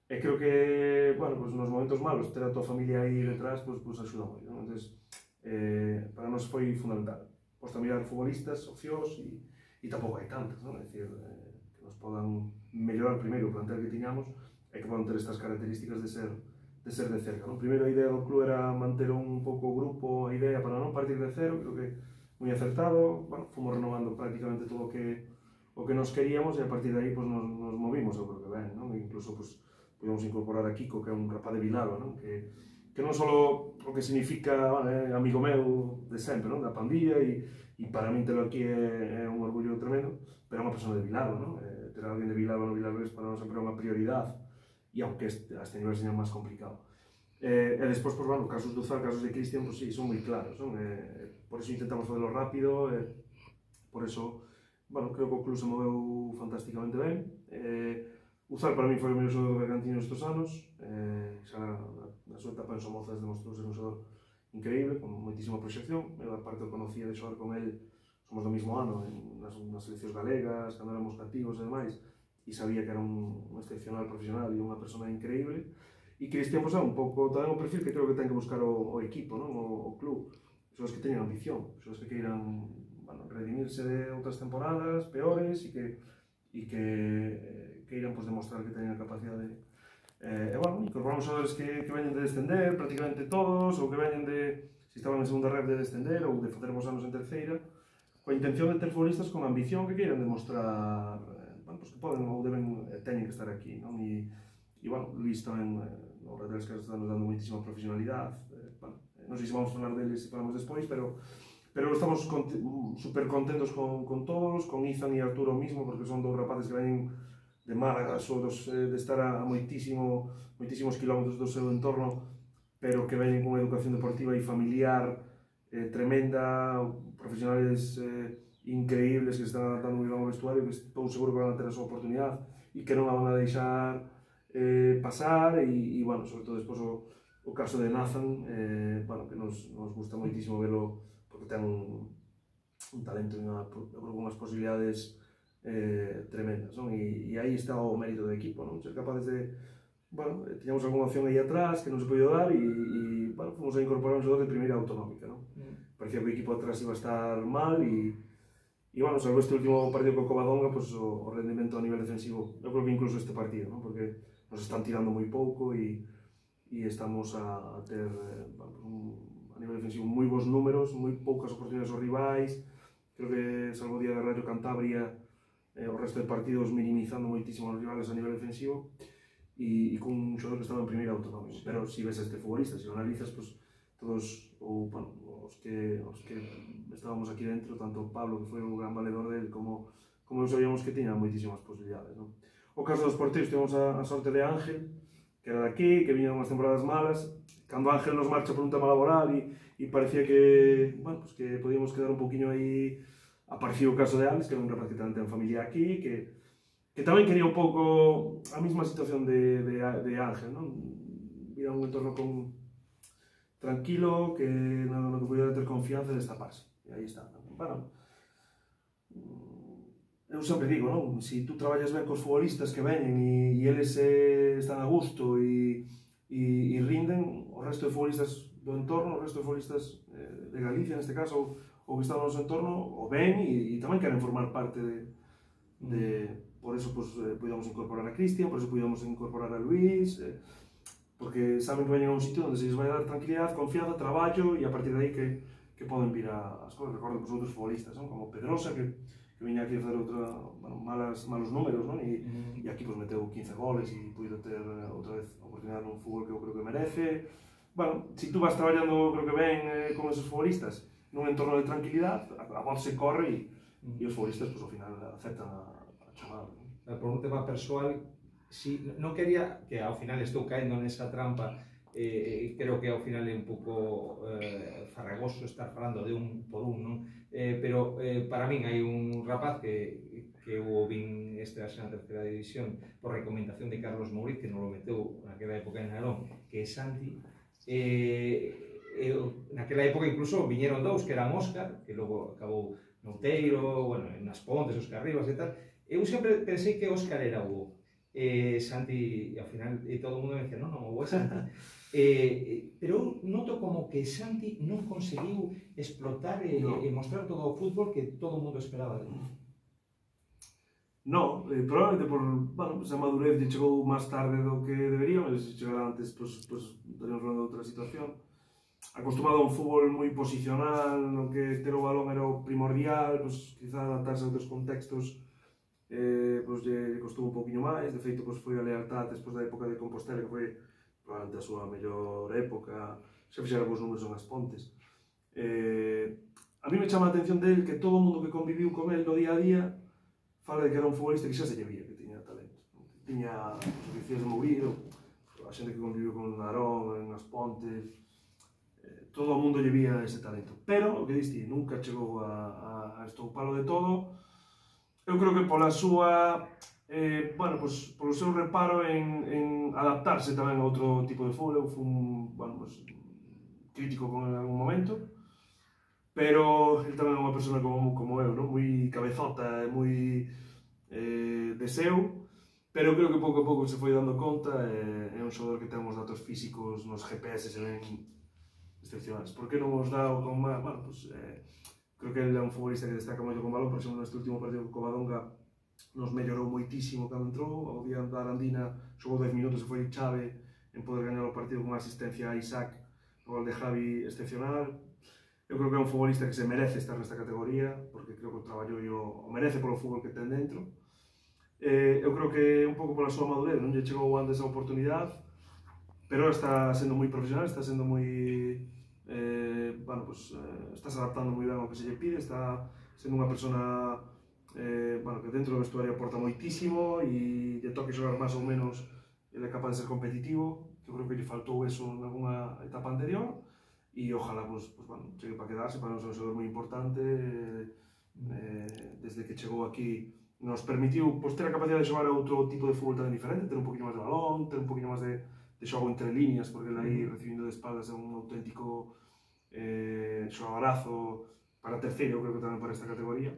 e creo que, bueno, pues, nos momentos malos, ter a tua familia aí detrás, pues, pues, axuda moito, ¿no? Entonces, eh, para nós foi fundamental. Posta mirar futbolistas, opcións, e e tampouco hai tantas, non? É dicir, eh, que nos podan mellorar primeiro o plantel que tiñamos e que podan ter estas características de ser de ser de cerca, non? Primeiro a idea do club era manter un pouco o grupo, a idea para non partir de cero, creo que moi acertado, bueno, fomos renovando prácticamente todo o que o que nos queríamos e a partir de aí pues, nos, nos movimos, eu creo que ben, non? E incluso pues, podemos incorporar a Kiko, que é un rapaz de Vilalba, non? Que, que non só o que significa eh, amigo meu de sempre, non? Da pandilla, e e para min telo aquí é, é un orgullo tremendo, pero é unha persona de Vilalba, non? Eh, ter alguén de Vilalba no Vilalbés para nós sempre é unha prioridade, e aunque este, a este nivel seña máis complicado. Eh, e despois, pues, bueno, casos de Uzal, casos de Cristian, pues, sí, son moi claros, non? Eh, por eso intentamos facerlo rápido, eh, por eso, bueno, creo que o club se moveu fantásticamente ben. Eh, Uzal para mí foi o mellor xogador do Bergantiños estes anos, eh, xa na, na súa etapa en Somozas demostrou ser un xogador increíble, con moitísima proxección. Eu, aparte, eu conocía de xogar con el, somos do mismo ano, en, nas, nas seleccións galegas, cando éramos cativos e demais, e sabía que era un, un excepcional profesional e unha persona increíble. E Cristian, pois, é un pouco tamén o perfil que creo que ten que buscar o, o equipo, non? O, o club. Xogos que teñan ambición, xogos que queiran, bueno, redimirse de outras temporadas peores e que, e que eh, queiran, pois, demostrar que teñen a capacidade de... Eh, e, bueno, incorporamos xogadores que, que veñen de descender, prácticamente todos, ou que veñen de, se estaban en segunda red, de descender, ou de facer vos anos en terceira, coa intención de ter futbolistas con ambición que queiran demostrar, eh, bueno, pues que poden ou deben, eh, teñen que estar aquí, non? E, e, bueno, Luís tamén, eh, no Redes que están nos dando moitísima profesionalidade, eh, bueno, non sei se vamos a falar deles se falamos despois, pero pero estamos conte super contentos con, con todos, con Izan e Arturo mismo, porque son dous rapaces que veñen de Málaga, dos, eh, de estar a, a moitísimo, moitísimos kilómetros do seu entorno, pero que veñen con unha educación deportiva e familiar eh, tremenda, profesionales eh, increíbles que se están adaptando moi ben ao vestuario, que estou seguro que van a ter a súa oportunidade e que non a van a deixar eh, pasar, e, e, bueno, sobre todo despois o, o caso de Nathan, eh, bueno, que nos, nos gusta moitísimo velo, porque ten un, un talento e unha, unhas posibilidades eh, tremendas, non? E, e aí está o mérito do equipo, non? Ser capaces de, bueno, tiñamos algunha opción aí atrás que non se podía dar e, e bueno, fomos a incorporar un xogador de primeira autonómica, non? Mm. Parecía que o equipo atrás iba a estar mal e, e bueno, salvo este último partido co Covadonga, pues, o, o rendimento a nivel defensivo, eu creo que incluso este partido, non? Porque nos están tirando moi pouco e, e estamos a, a ter bueno, un, a nivel defensivo moi bons números, moi poucas oportunidades aos rivais, creo que salvo o día de Rayo Cantabria, eh, o resto de partidos minimizando moitísimo os rivales a nivel defensivo, e, e con un xogador que estaba en primeira autonómico. Pero se si ves este futbolista, se si o analizas, pues, todos ou, bueno, os, que, os que estábamos aquí dentro, tanto Pablo, que foi o gran valedor del, como, como eu sabíamos que tiña moitísimas posibilidades. Non? O caso dos porteros, tivemos a, a sorte de Ángel, que era de aquí, que viñan unhas temporadas malas. Cando Ángel nos marcha por un tema laboral e, e parecía que, bueno, pues que podíamos quedar un poquinho aí. Apareció o caso de Alex, que é un rapaz que tamén ten familia aquí, que que tamén quería un pouco a mesma situación de, de, de Ángel, non? Ir a un entorno con tranquilo, que no, no que pudiera ter confianza e destaparse. E aí está. Bueno, eu sempre digo, non? Se si tú traballas ben cos futbolistas que veñen e, e eles eh, están a gusto e, e, e rinden, o resto de futbolistas do entorno, o resto de futbolistas eh, de Galicia, neste caso, ou que están no noso entorno, o ven e, e tamén queren formar parte de, de por eso pues, eh, podíamos incorporar a Cristian, por eso podíamos incorporar a Luis, eh, porque saben que veñen a un sitio onde se les vai dar tranquilidade, confianza, traballo e a partir de aí que, que poden vir a, as cosas. Recordo pues, outros futbolistas, non? Como Pedrosa, que, que viña aquí a fazer outra, bueno, malas, malos números, non? E, mm. e aquí pues, meteu quince goles e puido ter outra vez a oportunidade nun fútbol que eu creo que merece. Bueno, se si tú vas traballando, creo que ben, eh, con esos futbolistas, nun entorno de tranquilidade, a, a voz se corre e, mm. e os futbolistas, pues, ao final, aceptan a chamada. Por un tema persoal, si, non quería, que ao final estou caendo nesa trampa, eh, creo que ao final é un pouco eh, farragoso estar falando de un por un, non? Eh, pero eh, para min hai un rapaz que, que o vin este na terceira división por recomendación de Carlos Mouriz, que non lo meteu naquela época en Narón, que é Santi. Eh, eh, naquela época incluso viñeron dous, que eran Óscar, que logo acabou no Outeiro, bueno, nas Pontes, Óscar Rivas e tal. Eu sempre pensei que Óscar era o eh, Santi, e ao final e todo o mundo me dicía, non, non, o é Santi. eh, pero eu noto como que Santi non conseguiu explotar e, no. e mostrar todo o fútbol que todo o mundo esperaba de él. No, eh, probablemente por, bueno, pues a madurez lle chegou máis tarde do que debería, mas se chegara antes, pues, pues estaríamos falando de outra situación. Acostumado a un fútbol moi posicional, no que ter o balón era o primordial, pues quizá adaptarse a outros contextos eh, pues, lle costou un poquinho máis. De feito, pues, foi a lealtad despois da época de Compostela, que foi probablemente a súa mellor época, xa fixera os números nas Pontes. Eh, a mí me chama a atención del que todo o mundo que conviviu con el no día a día fala de que era un futbolista que xa se lle vía, que tiña talento. Que tiña os oficios de Mourido, a xente que conviviu con Narón, en as Pontes, eh, todo o mundo lle vía ese talento. Pero, o que diste, nunca chegou a, a estoupalo de todo. Eu creo que pola súa, eh, bueno, pues, polo seu reparo en, en adaptarse tamén a outro tipo de fútbol. Eu fui un, bueno, pues, crítico con en algún momento, pero ele tamén é unha persona como, como eu, non? Moi cabezota, moi eh, deseo, pero creo que pouco a pouco se foi dando conta. Eh, é un xogador que ten uns datos físicos nos G P S se ven excepcionais. Por que non os dá con máis? Bueno, pues, eh, creo que ele é un futbolista que destaca moito con balón. Por exemplo, neste último partido con Covadonga nos mellorou moitísimo cando entrou. Ao día da Arandina xogou dez minutos e foi chave en poder gañar o partido con unha asistencia a Isaac, o gol de Javi excepcional. Eu creo que é un futbolista que se merece estar nesta categoría, porque creo que o traballo o, o merece polo fútbol que ten dentro. Eh, eu creo que un pouco pola súa madurez non lle chegou antes a oportunidade, pero está sendo moi profesional, está sendo moi... Eh, bueno, pues, eh, estás adaptando moi ben ao que se lle pide, está sendo unha persona eh, bueno, que dentro do vestuario aporta moitísimo e lle toque xogar máis ou menos, ele é capaz de ser competitivo. Eu creo que lle faltou eso en alguna etapa anterior e ojalá pues, pues, bueno, chegue para quedarse, para non ser un xogador moi importante. Eh, desde que chegou aquí nos permitiu pues, ter a capacidade de xogar a outro tipo de fútbol tan diferente, ter un poquinho máis de balón, ter un poquinho máis de de xogo entre líneas, porque ele aí recibindo de espaldas é un auténtico eh, xogadorazo para terceiro, creo que tamén para esta categoría,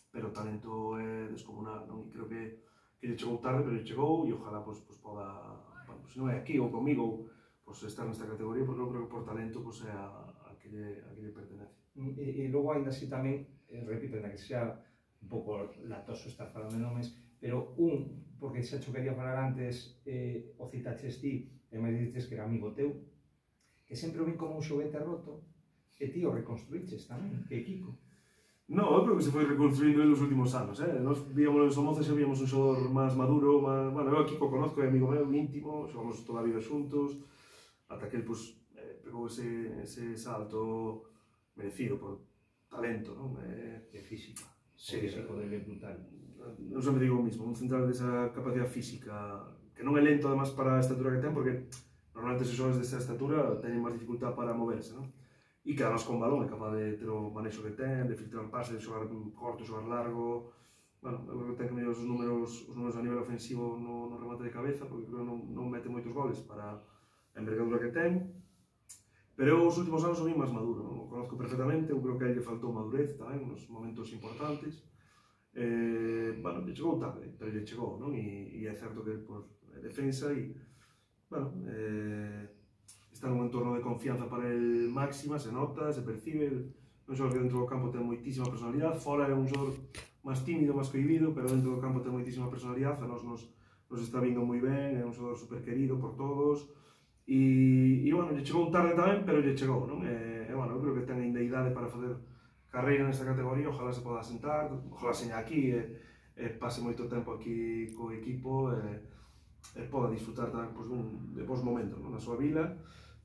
pero o talento é descomunal, non? E creo que, que lle chegou tarde, pero lle chegou e ojalá pues, pues, poda, bueno, se non é aquí ou comigo, pois estar nesta categoría, porque eu creo que por talento pois, é a, a, que lle, a que lle pertenece. E, e logo ainda así tamén, eh, repito, ainda que sea un pouco latoso estar falando de nomes, pero un, porque xa cho quería falar antes, eh, o citaches ti, e me dices que era amigo teu, que sempre o vin como un xoguete roto, e ti o reconstruíches tamén, que Kiko. No, eu creo que se foi reconstruindo en os últimos anos, eh? Nos víamos en Somoza, xa víamos un xogador máis maduro, máis... Bueno, eu aquí o conozco, é amigo meu, íntimo, xogamos toda a vida xuntos, ata que el, pues, eh, pegou ese, ese salto merecido por talento, non? Eh, De física. sí, o físico dele é brutal. Eu sempre digo o mismo, un central desa capacidade física, que non é lento, además, para a estatura que ten, porque normalmente os xogadores desa estatura teñen máis dificultad para moverse, non? E que además con balón é capaz de ter o manexo que ten, de filtrar pases, de xogar corto, xogar largo. Bueno, eu creo que ten que medir os números, os números a nivel ofensivo no, no remate de cabeza, porque creo que non, non mete moitos goles para a envergadura que ten. Pero eu os últimos anos o vi máis maduro, non? O conozco perfectamente, eu creo que a ele faltou madurez tamén, nos momentos importantes. Eh, bueno, lle chegou tarde, pero lle chegou, non? E, e é certo que por defensa e, bueno, eh, está nun entorno de confianza para el máxima, se nota, se percibe, un xogador que dentro do campo ten moitísima personalidade, fora é un xogador máis tímido, máis cohibido, pero dentro do campo ten moitísima personalidade, a nos, nos, nos está vindo moi ben, é un xogador super querido por todos, e, e bueno, lle chegou un tarde tamén, pero lle chegou, non? E, e bueno, eu creo que ten ainda idade para fazer carreira nesta categoría, ojalá se poda sentar, ojalá seña aquí, e, e pase moito tempo aquí co equipo, e, e poda disfrutar tamén pues, un, de bons momentos, non? Na súa vila,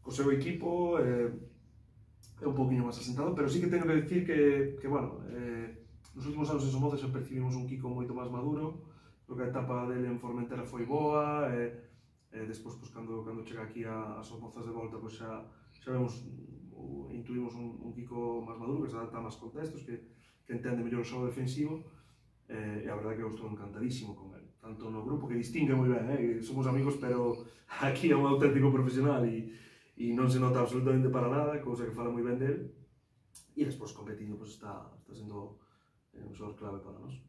co seu equipo, eh, é un poquinho máis asentado, pero sí que tengo que decir que, que bueno, eh, nos últimos anos en Somoza xa percibimos un Kiko moito máis maduro, creo que a etapa dele en Formentera foi boa, e, e despois, pues, cando, cando chega aquí a, a Somozas de volta, pues, xa, xa vemos, o, intuimos un, un Kiko máis maduro, que se adapta a máis contextos, que, que entende mellor o xogo defensivo, eh, e a verdade que eu estou encantadísimo con ele, tanto no grupo, que distingue moi ben, eh, somos amigos, pero aquí é un auténtico profesional, e e non se nota absolutamente para nada, cousa que fala moi ben del, e despois competindo pues, está, está sendo eh, un xogador clave para nós.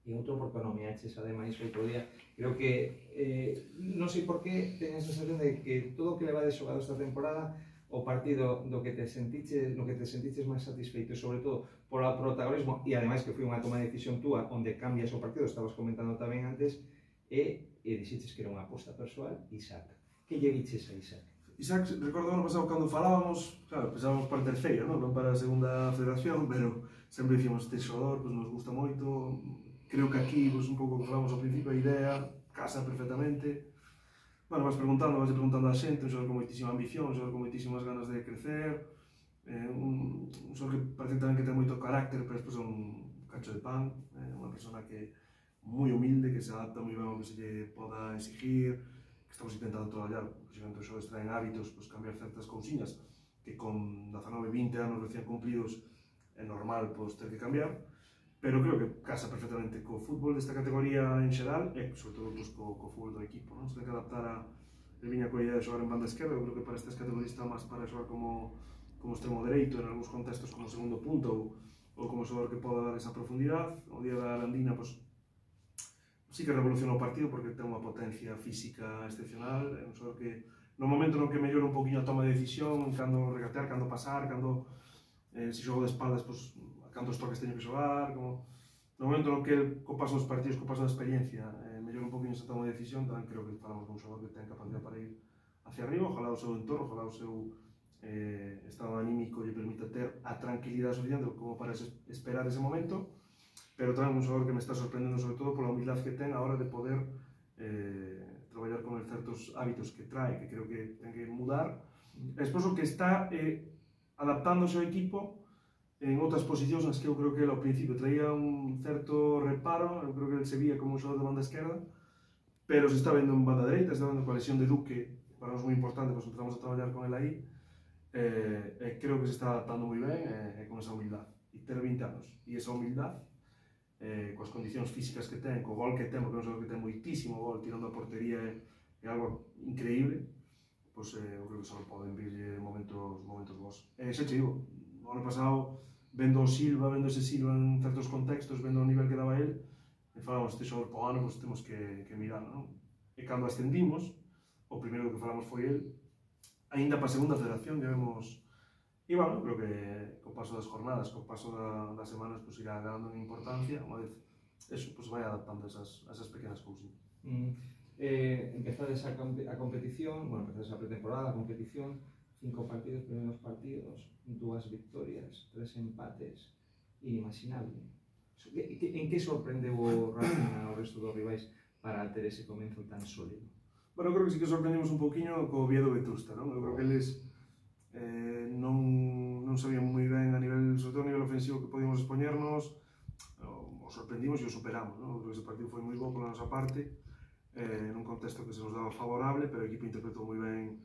E outro porque non me aches, ademais, outro día, creo que, eh, non sei por qué, teño a sensación de que todo o que leva de xogado esta temporada, o partido do que te sentiches, no que te sentiches máis satisfeito, sobre todo por o protagonismo, e ademais que foi unha toma de decisión túa, onde cambias o partido, estabas comentando tamén antes, e, e dixeches que era unha aposta persoal, Isaac. Que lle diches a Isaac? Isaac, recordo ano pasado cando falábamos, claro, pensábamos para a terceira, non, non para a segunda federación, pero sempre dicíamos este xogador, pues, nos gusta moito, creo que aquí, pues, un pouco que falamos ao principio, a idea casa perfectamente. Bueno, vas preguntando, vas preguntando a xente, un xogador con moitísima ambición, un xogador con moitísimas ganas de crecer, eh, un, un xogador que parece tamén que ten moito carácter, pero despois é un cacho de pan, eh, unha persona que moi humilde, que se adapta moi ben ao que se lle poda exigir, que estamos intentando traballar, posiblemente os xogadores traen hábitos, pues, cambiar certas cousiñas que con dezanove, vinte anos recién cumplidos é normal pues, ter que cambiar, pero creo que casa perfectamente co fútbol desta categoría en xeral e sobre todo pues, co, co fútbol do equipo, non? Se ten que adaptar a el viña coa idea de xogar en banda esquerda, eu creo que para estas categorías está máis para xogar como, como extremo dereito, en algúns contextos como segundo punto ou, ou como xogador que poda dar esa profundidade. O día da Arandina, pues, sí que revoluciona o partido porque ten unha potencia física excepcional, é un xogador que no momento no que mellora un poquinho a toma de decisión, cando regatear, cando pasar, cando eh, se xogo de espaldas, pues, a cantos toques teño que xogar, como no momento no que el, co paso dos partidos, co paso da experiencia, eh, mellora un poquinho esa toma de decisión, tamén creo que falamos dun xogador que ten capacidade para ir hacia arriba, ojalá o seu entorno, ojalá o seu eh, estado anímico lle permita ter a tranquilidade suficiente como para esperar ese momento, pero tamén un xogador que me está sorprendendo sobre todo pola humildade que ten a hora de poder eh, traballar con certos hábitos que trae, que creo que ten que mudar. Despois o que está eh, adaptándose ao equipo en outras posicións nas que eu creo que ele ao principio traía un certo reparo, eu creo que ele se vía como un xogador de banda esquerda, pero se está vendo en banda dereita, se está vendo coa lesión de Duque, para nós moi importante, pois empezamos a traballar con ele aí, eh, e creo que se está adaptando moi ben e, e con esa humildade. E ter vinte anos, e esa humildade, eh, coas condicións físicas que ten, co gol que ten, porque é un xogador que ten moitísimo gol tirando a portería, é, é algo increíble, pois eh, eu creo que só poden vir momentos, momentos bons. E xa che digo, no ano pasado, vendo o Silva, vendo ese Silva en certos contextos, vendo o nivel que daba el, e falamos, este xogador po ano, pois temos que, que mirar, non? E cando ascendimos, o primeiro que falamos foi el. Ainda para a segunda federación debemos... E, bueno, creo que co paso das jornadas, co paso da, das semanas, pues, irá ganando en importancia, unha vez eso, pues, vai adaptando a esas, a esas pequenas cousas. Mm. Eh, empezades a, a competición, bueno, empezades a pretemporada, a competición, cinco partidos, primeiros partidos, dúas victorias, tres empates, inimaginable. En que sorprendeu o Racing ao resto dos rivais para ter ese comenzo tan sólido? Bueno, creo que sí que sorprendimos un poquinho co Oviedo Vetusta, non? Eu creo que eles eh, non, non sabían moi ben a nivel, sobre todo a nivel ofensivo, que podíamos expoñernos, o, o sorprendimos e o superamos, non? Creo que ese partido foi moi bo pola nosa parte, eh, nun contexto que se nos daba favorable, pero o equipo interpretou moi ben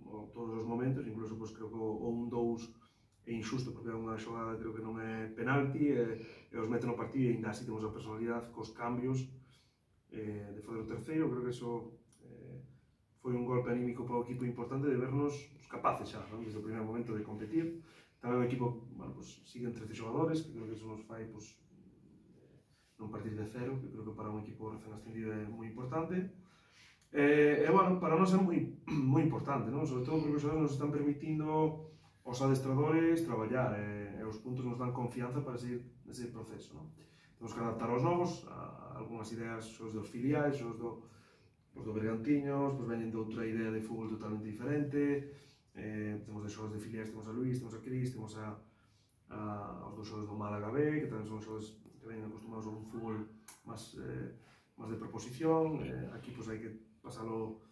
o, todos os momentos, incluso pues, creo que o un dous é injusto, porque é unha xogada creo que non é penalti, e, e os mete no partido e ainda así temos a personalidade cos cambios eh, de fazer o terceiro. Creo que eso foi un golpe anímico para o equipo importante de vernos pues, capaces xa, ¿no? Desde o primeiro momento de competir. Tamén o equipo, bueno, pues, siguen trece xogadores, que creo que eso nos fai pues, non partir de cero, que creo que para un equipo recén ascendido é moi importante. E, e bueno, para nós é moi, moi importante, ¿no? Sobre todo porque os xogadores nos están permitindo os adestradores traballar, e, e os puntos nos dan confianza para seguir ese proceso, ¿no? Temos que adaptar aos novos, a, a algunhas ideas, os dos filiais, os do os do Bergantiños, pues veñen de outra idea de fútbol totalmente diferente, eh, temos de xogadores de filiais, temos a Luís, temos a Cris, temos a, a, aos dos xogadores do Málaga B, que tamén son xogadores que veñen acostumados a un fútbol máis, eh, máis de proposición, eh, aquí pues hai que pasalo,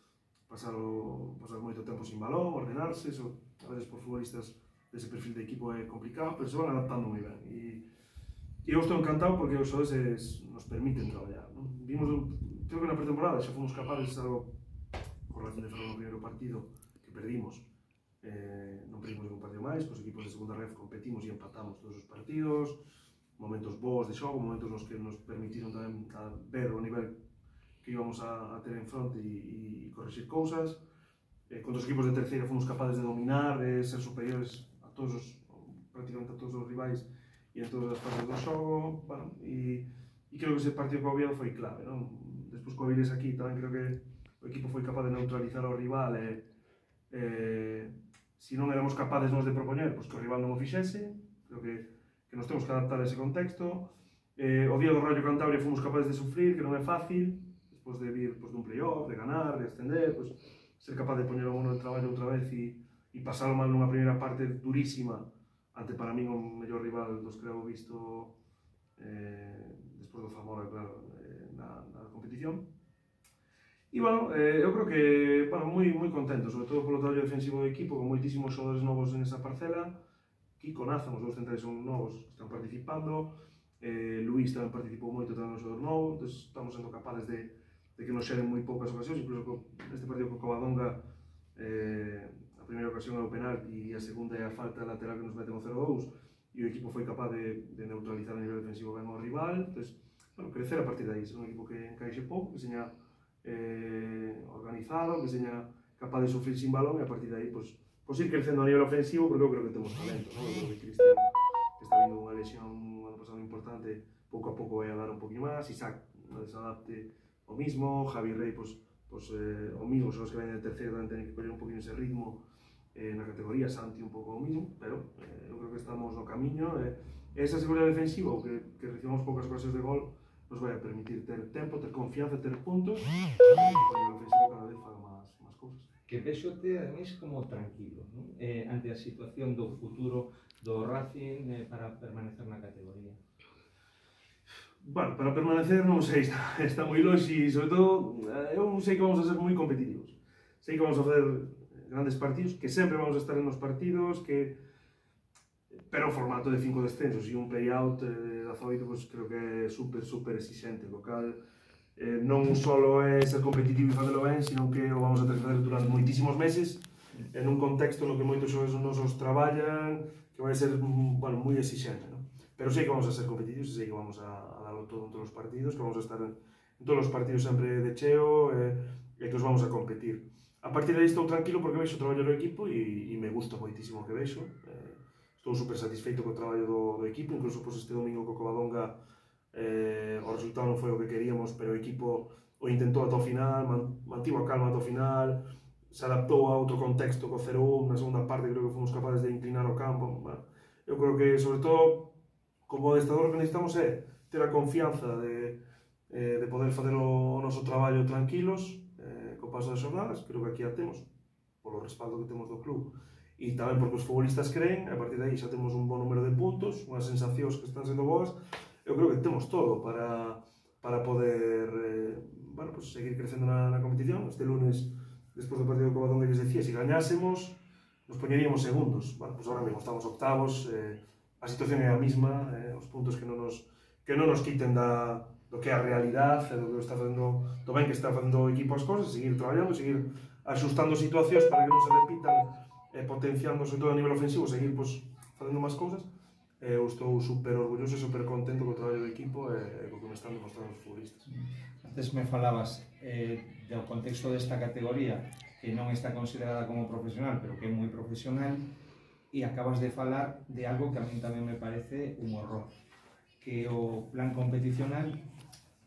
pasalo, pasar moito tempo sin balón, ordenarse, eso a veces por futbolistas dese perfil de equipo é complicado, pero se van adaptando moi ben, e, e eu estou encantado porque os xogadores nos permiten traballar, ¿no? Vimos creo que na pretemporada xa fomos capaces, algo con Racing de Ferrol no primeiro partido que perdimos, eh, non perdimos ningún partido máis, cos equipos de segunda ref competimos e empatamos todos os partidos, momentos bons de xogo, momentos nos que nos permitiron tamén a ver o nivel que íbamos a, a ter en fronte e, e correxir cousas. Eh, contra os equipos de terceira fomos capaces de dominar, de ser superiores a todos os, prácticamente a todos os rivais e en todas as partes do xogo, bueno, e, e creo que ese partido co Oviedo foi clave, non? Despois co Avilés aquí tamén creo que o equipo foi capaz de neutralizar ao rival e, e se non éramos capaces nos de propoñer, pois que o rival non o fixese. Creo que, que nos temos que adaptar a ese contexto. Eh, o día do Rayo Cantabria fomos capaces de sufrir, que non é fácil, despois de vir pois, dun playoff, de ganar, de ascender, pois, ser capaz de poñer o mono de traballo outra vez e, e pasalo mal nunha primeira parte durísima ante para min o mellor rival dos que levo visto eh, despois do Zamora, claro, Na, na competición. E, bueno, eh, eu creo que, bueno, moi, moi contento, sobre todo polo traballo defensivo do equipo, con moitísimos xogadores novos en esa parcela. Kiko, Nazan, os dous centrais son novos que están participando, eh, Luís tamén participou moito tamén no xogador novo, entón estamos sendo capaces de, de que nos xeren moi poucas ocasións, incluso co, neste partido co Covadonga, eh, a primeira ocasión é o penalti e a segunda é a falta lateral que nos meten o cero dous, e o equipo foi capaz de, de neutralizar a nivel defensivo ben ao rival. Entón, bueno, crecer a partir de aí, ser un equipo que encaixe pouco, que seña eh, organizado, que seña capaz de sufrir sin balón, e a partir de aí, pues, pues ir crecendo a nivel ofensivo, porque eu creo que temos talento, ¿no? Eu creo que Cristian, que está vindo unha lesión ano pasado importante, pouco a pouco vai a dar un poquinho máis, Isaac non desadapte o mismo, Javi Rey, pues, pues, eh, o mismo, son os que ven de terceiro, tamén tenen que coller un poquinho ese ritmo eh, na categoría, Santi un pouco o mismo, pero eh, eu creo que estamos no camiño, e eh, esa seguridade defensiva, que, que recibamos poucas ocasións de gol, nos vai a permitir ter tempo, ter confianza, ter puntos, e o ofensivo cada vez faga máis, máis cousas. Que vexote, ademais, como tranquilo, non? Eh, ante a situación do futuro do Racing eh, para permanecer na categoría. Bueno, para permanecer non sei, está, está moi longe e, sobre todo, eu sei que vamos a ser moi competitivos. Sei que vamos a fazer grandes partidos, que sempre vamos a estar en os partidos, que pero o formato de cinco descensos e un play-out de dezaoito, pues, creo que é super, super exigente, lo cal eh, non só é ser competitivo e facelo ben, sino que o vamos a ter que fazer durante moitísimos meses, en un contexto no que moitos xogadores nosos traballan, que vai ser, bueno, moi exigente, ¿no? Pero sei que vamos a ser competitivos, sei que vamos a, a darlo todo en todos os partidos, que vamos a estar en, en todos os partidos sempre de cheo, e, e que os vamos a competir. A partir de aí estou tranquilo porque vexo o traballo do equipo e, e me gusta moitísimo o que vexo. Eh, Estou super satisfeito co traballo do, do equipo, incluso pues, este domingo co Covadonga eh, o resultado non foi o que queríamos, pero o equipo o intentou ata o final, mantivo a calma ata o final, se adaptou a outro contexto co cero un, na segunda parte creo que fomos capaces de inclinar o campo. Bueno, eu creo que, sobre todo, como adestrador o que necesitamos é ter a confianza de, eh, de poder fazer o, o noso traballo tranquilos, eh, co paso das xornadas, creo que aquí a temos, polo respaldo que temos do club, e tamén porque os futbolistas creen, a partir de aí xa temos un bon número de puntos, unhas sensacións que están sendo boas, eu creo que temos todo para, para poder eh, bueno, pues, seguir crecendo na, na competición. Este lunes, despois do partido co Badón, que les decía, se gañásemos, nos poñeríamos segundos. Bueno, pues ahora mesmo estamos octavos, eh, a situación é a mesma, eh, os puntos que non nos, que non nos quiten da, do que é a realidade, do que está facendo, do ben que está facendo o equipo as cosas, seguir traballando, seguir axustando situacións para que non se repitan, eh, potenciando, sobre todo a nivel ofensivo, seguir pues, facendo máis cousas. Eh, eu estou super orgulloso e super contento co traballo do equipo e eh, co que me están demostrando os futbolistas. Antes me falabas eh, do contexto desta categoría que non está considerada como profesional, pero que é moi profesional, e acabas de falar de algo que a mí tamén me parece un horror, que o plan competicional,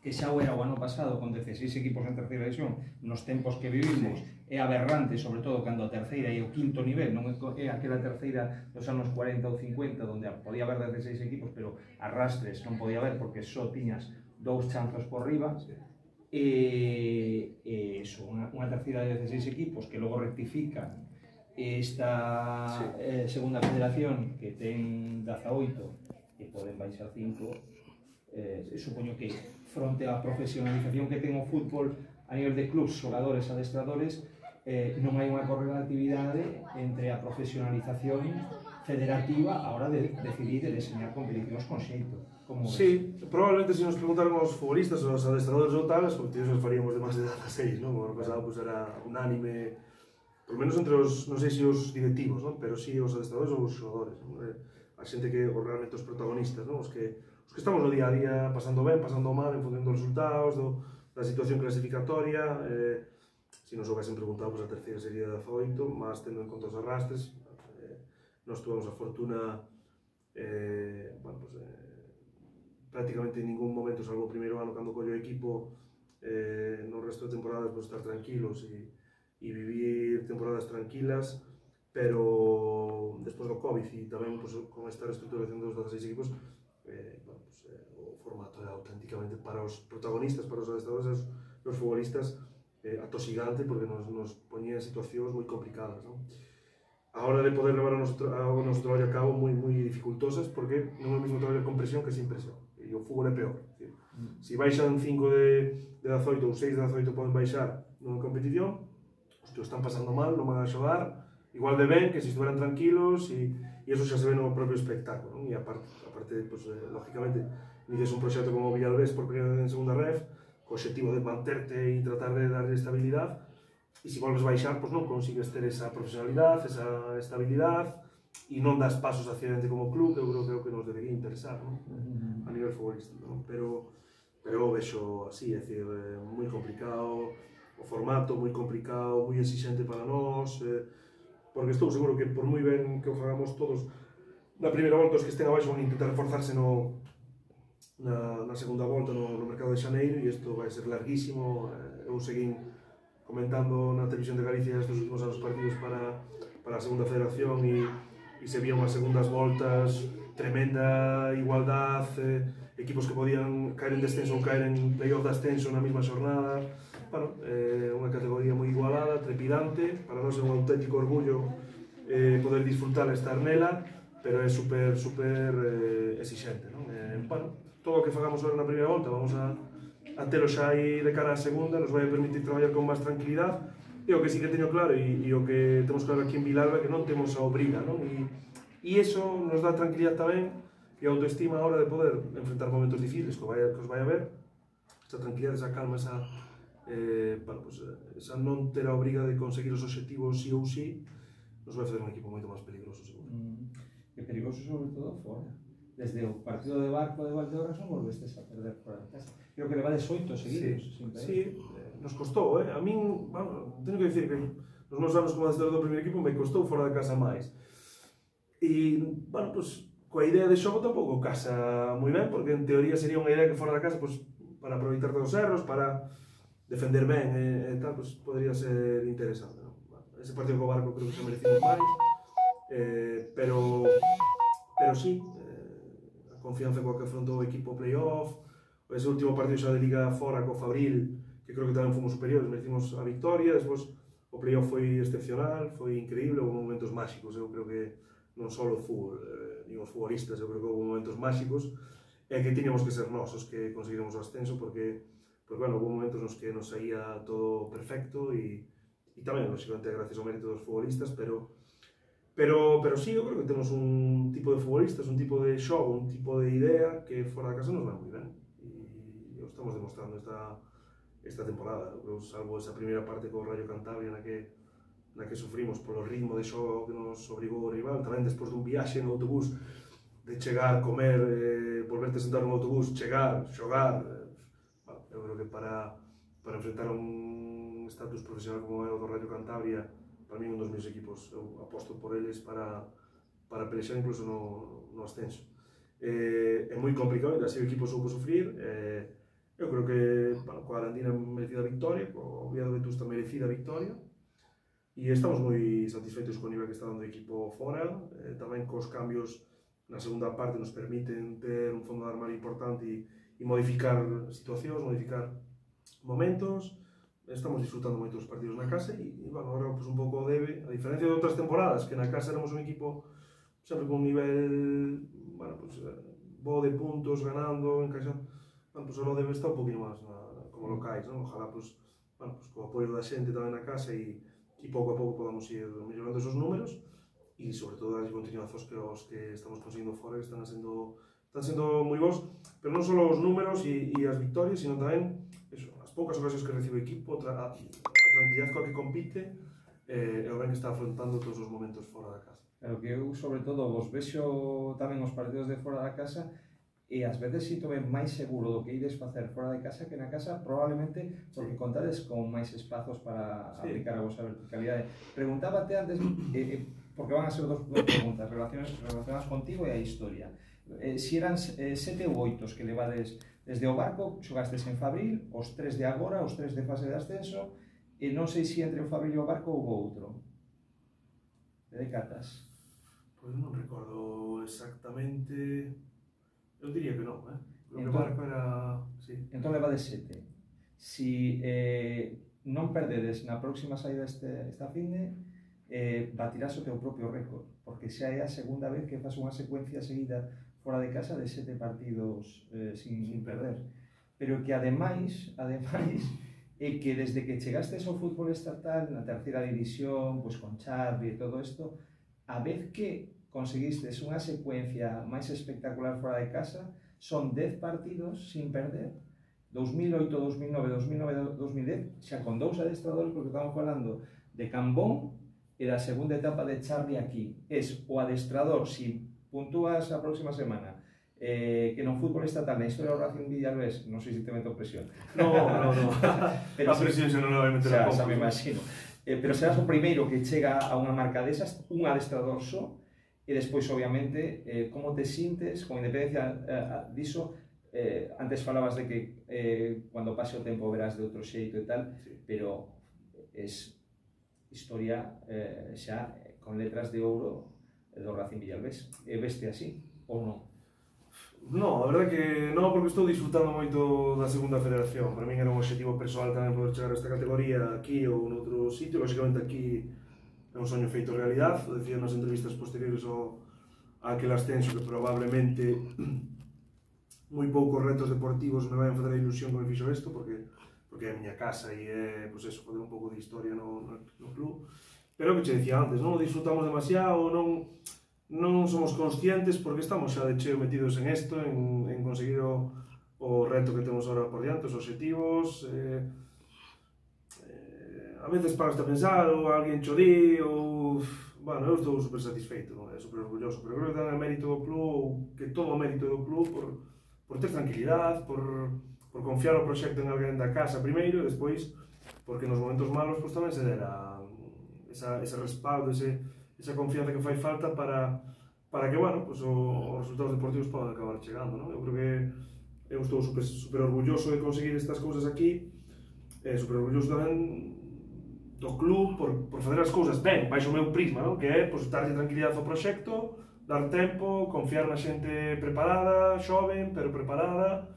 que xa o era o ano pasado con dieciséis equipos en terceira división, nos tempos que vivimos, é aberrante, sobre todo cando a terceira e o quinto nivel, non é aquela terceira dos anos cuarenta ou cincuenta, onde podía haber dieciséis equipos, pero arrastres non podía haber porque só tiñas dous chanzos por riba, e, e eso, unha, unha terceira de dieciséis equipos que logo rectifican esta sí. eh, segunda federación que ten dezaoito e poden baixar cinco, eh, supoño que fronte á profesionalización que ten o fútbol a nivel de clubs, xogadores, adestradores, eh, non hai unha correlatividade entre a profesionalización federativa a hora de decidir e deseñar competicións con xeito. Como sí, ves? Probablemente se nos preguntaron aos futbolistas ou aos adestradores ou tal, as competicións faríamos de máis de dieciséis, non? O ano pasado pues, era unánime, por menos entre os, non sei se os directivos, non? Pero sí os adestradores ou os xogadores, non? A xente que, ou realmente os protagonistas, non? Os que, os que estamos no día a día pasando ben, pasando mal, en función dos resultados, do, da situación clasificatoria. Eh, se nos houvesen preguntado, pues, a terceira sería dezaoito, mas tendo en conta os arrastres, eh, nos tuvemos a fortuna, eh, bueno, pues, eh, prácticamente en ningún momento, salvo o primeiro ano cando collo o equipo, eh, no resto de temporadas, pues, estar tranquilos e, e vivir temporadas tranquilas, pero despois do Covid e tamén pues, con esta reestructuración dos dieciséis equipos, eh, bueno, pues, eh, o formato é auténticamente para os protagonistas, para os adestradores e os futbolistas, eh, atosigante, porque nos, nos ponía en situacións moi complicadas, non? A hora de poder levar o noso, o noso traballo a cabo moi, moi dificultosas, porque non é o mesmo traballo con presión que sin presión, e o fútbol é peor. Se si baixan cinco de, de dezaoito ou seis de dezaoito poden baixar nunha competición, os que o están pasando mal non van a xogar igual de ben que se estuveran tranquilos, e, e eso xa se ve no propio espectáculo, non? E aparte, aparte pues, eh, lógicamente, inicias un proxecto como Villalbés por primeira vez en segunda ref, co objetivo de manterte e tratar de darle estabilidade, e se volves baixar, pues non consigues ter esa profesionalidade, esa estabilidade, e non das pasos hacia dentro como club, que eu creo que é o que nos debería interesar, non? A nivel futbolístico, non? Pero, pero vexo así, é dicir, é moi complicado, o formato moi complicado, moi exixente para nós, eh, porque estou seguro que por moi ben que o fagamos todos, na primeira volta os que estén abaixo van intentar reforzarse no, na, na segunda volta no, no mercado de Xaneiro, e isto vai ser larguísimo. Eu seguín comentando na televisión de Galicia estes últimos anos partidos para, para a segunda federación, e, e se vían as segundas voltas, tremenda igualdade, eh, equipos que podían caer en descenso ou caer en playoff de ascenso na mesma xornada. Bueno, é eh, unha categoría moi igualada, trepidante, para nós é un auténtico orgullo eh, poder disfrutar e estar nela, pero é super, super eh, exigente, non? Eh, bueno, todo o que fagamos agora na primeira volta vamos a, a telo xa aí de cara á segunda, nos vai a permitir traballar con máis tranquilidade, e o que sí que teño claro, e, e o que temos claro aquí en Vilalba, que non temos a obriga, non? E, e iso nos dá tranquilidade tamén, e autoestima a hora de poder enfrentar momentos difíciles que, vai, que os vai a ver, esa tranquilidade, esa calma, esa, eh, bueno, pues, esa non ter a obriga de conseguir os obxectivos sí ou sí, nos vai fazer un equipo moito máis peligroso, seguro. Mm, e peligroso sobre todo fora. Desde o partido de Barco de Valdeorras non volvestes a perder fora de casa. Creo que levades oito seguidos. Sí, sí, eh, nos costou, eh? A min, bueno, teño que dicir que nos meus anos como adestrador do primeiro equipo me costou fora de casa máis. E, bueno, pues, coa idea de xogo tampouco casa moi ben, porque en teoría sería unha idea que fora da casa, pues, para aproveitar todos os erros, para defender ben e, e tal, pues, podría ser interesante, non? Bueno, ese partido co Barco creo que se merecimos máis, eh, pero pero sí, eh, a confianza coa que afrontou o equipo playoff, ese último partido xa de Liga fora co Fabril, que creo que tamén fomos superiores, merecimos a victoria, despois o playoff foi excepcional, foi increíble, houve momentos máxicos, eu creo que non só o fútbol, eh, nin os futbolistas, eu creo que houve momentos máxicos, e que tiñamos que ser nós os que conseguiremos o ascenso, porque, porque bueno, houve momentos nos que nos saía todo perfecto, e, e tamén, lógicamente, gracias ao mérito dos futbolistas, pero Pero, pero sí, eu creo que temos un tipo de futbolistas, un tipo de xogo, un tipo de idea que fora da casa nos vai moi ben. E o estamos demostrando esta, esta temporada. Eu salvo esa primeira parte co Rayo Cantabria na que, na que sufrimos polo ritmo de xogo que nos obrigou o rival, tamén despois dun viaxe no autobús, de chegar, comer, eh, volverte a sentar no autobús, chegar, xogar. Eh, bueno, eu creo que para, para enfrentar un estatus profesional como é o do Rayo Cantabria, para mí un dos meus equipos, eu aposto por eles para, para pelexar incluso no, no ascenso. Eh, é moi complicado, así o equipo soupo sufrir, eh, eu creo que, bueno, coa Arandina merecida victoria, co Oviedo Vetusta merecida victoria, e estamos moi satisfeitos co nivel que está dando o equipo fora, eh, tamén cos cambios na segunda parte nos permiten ter un fondo de armario importante e, e modificar situacións, modificar momentos. Estamos disfrutando moito dos partidos na casa e, e bueno, agora pues, un pouco debe, a diferencia de outras temporadas, que na casa éramos un equipo sempre con un nivel, bueno, pues, bo de puntos, ganando, encaixando, bueno, pues, o debe estar un poquinho máis na, como locais, non? Ojalá, pues, bueno, pues, co apoio da xente tamén na casa e, e pouco a pouco podamos ir mellorando esos números e, sobre todo, darlle continuazos que os que estamos conseguindo fora, que están sendo, están sendo moi bons, pero non só os números e, e as victorias, sino tamén eso, poucas ocasións que recibe o equipo, a, a tranquilidade coa que compite, eh, e o ben que está afrontando todos os momentos fora da casa. Claro que eu, sobre todo, vos vexo tamén os partidos de fora da casa e ás veces sinto-me máis seguro do que ides facer fora de casa que na casa, probablemente porque contades con máis espazos para sí. aplicar a vosa verticalidade. Preguntábate antes, eh, porque van a ser dos, dos preguntas relacionadas, relacionadas contigo e a historia. Eh, si eran eh, sete ou oitos que levades desde o Barco, xogastes en Fabril, os tres de agora, os tres de fase de ascenso, e non sei se entre o Fabril e o Barco houve outro. De decatas? Pois non recordo exactamente... Eu diría que non, eh? Creo que entón, o Barco era... Sí. Entón levades sete. Si eh, non perdedes na próxima saída este, esta finde, eh, batirás o teu propio récord, porque xa é a segunda vez que fas unha secuencia seguida fora de casa de sete partidos eh, sin, sin perder. Pero que ademais, ademais, é que desde que chegastes ao fútbol estatal, na terceira división, pues, con Xavi e todo isto, a vez que conseguistes unha secuencia máis espectacular fora de casa, son dez partidos sin perder, dos mil oito, dos mil nove, dos mil nove, dos mil dez, xa con dous adestradores, porque estamos falando de Cambón e da segunda etapa de Xavi aquí. Es o adestrador, si puntúas a próxima semana, eh, que no fútbol estatal, na historia do Racing Villalbés, non sei se te meto presión. No, no, no. Pero a presión se non la vai meter a pouco. Xa me imagino. Eh, pero serás o primeiro que chega a unha marca desas, un adestrador só, e despois, obviamente, eh, como te sintes, con independencia eh, diso, eh, antes falabas de que eh, cando pase o tempo verás de outro xeito e tal, sí. Pero es historia eh, xa con letras de ouro do Racing Villalbés. E veste así, ou non? No, a verdade que non, porque estou disfrutando moito da segunda federación. Para min era un objetivo persoal tamén poder chegar a esta categoría aquí ou noutro sitio. Lógicamente aquí é un soño feito realidad. O decía nas entrevistas posteriores ao a aquel ascenso que probablemente moi poucos retos deportivos me vai a fazer a ilusión que me fixo isto, porque, porque é a miña casa e é, pues eso, fazer un pouco de historia no, no, no club. Pero o que che dicía antes, non o disfrutamos demasiado, non, non somos conscientes porque estamos xa de cheo metidos en isto, en, en conseguir o, o reto que temos agora por diante, os objetivos. Eh, eh, a veces paras a pensar, ou alguén cho di, ou... Bueno, eu estou super satisfeito, non? É super orgulloso, pero creo que ten o mérito do club, ou que todo o mérito do club, por, por ter tranquilidade, por, por confiar o proxecto en alguén da casa primeiro, e despois, porque nos momentos malos, pues, tamén se dera esa, ese respaldo, ese, esa confianza que fai falta para, para que, bueno, pues, o, os resultados deportivos podan acabar chegando, non? Eu creo que eu estou super, super orgulloso de conseguir estas cousas aquí, e super orgulloso tamén do club por, por facer as cousas ben, baixo o meu prisma, non? Que é pues, darlle tranquilidade ao proxecto, dar tempo, confiar na xente preparada, xoven, pero preparada,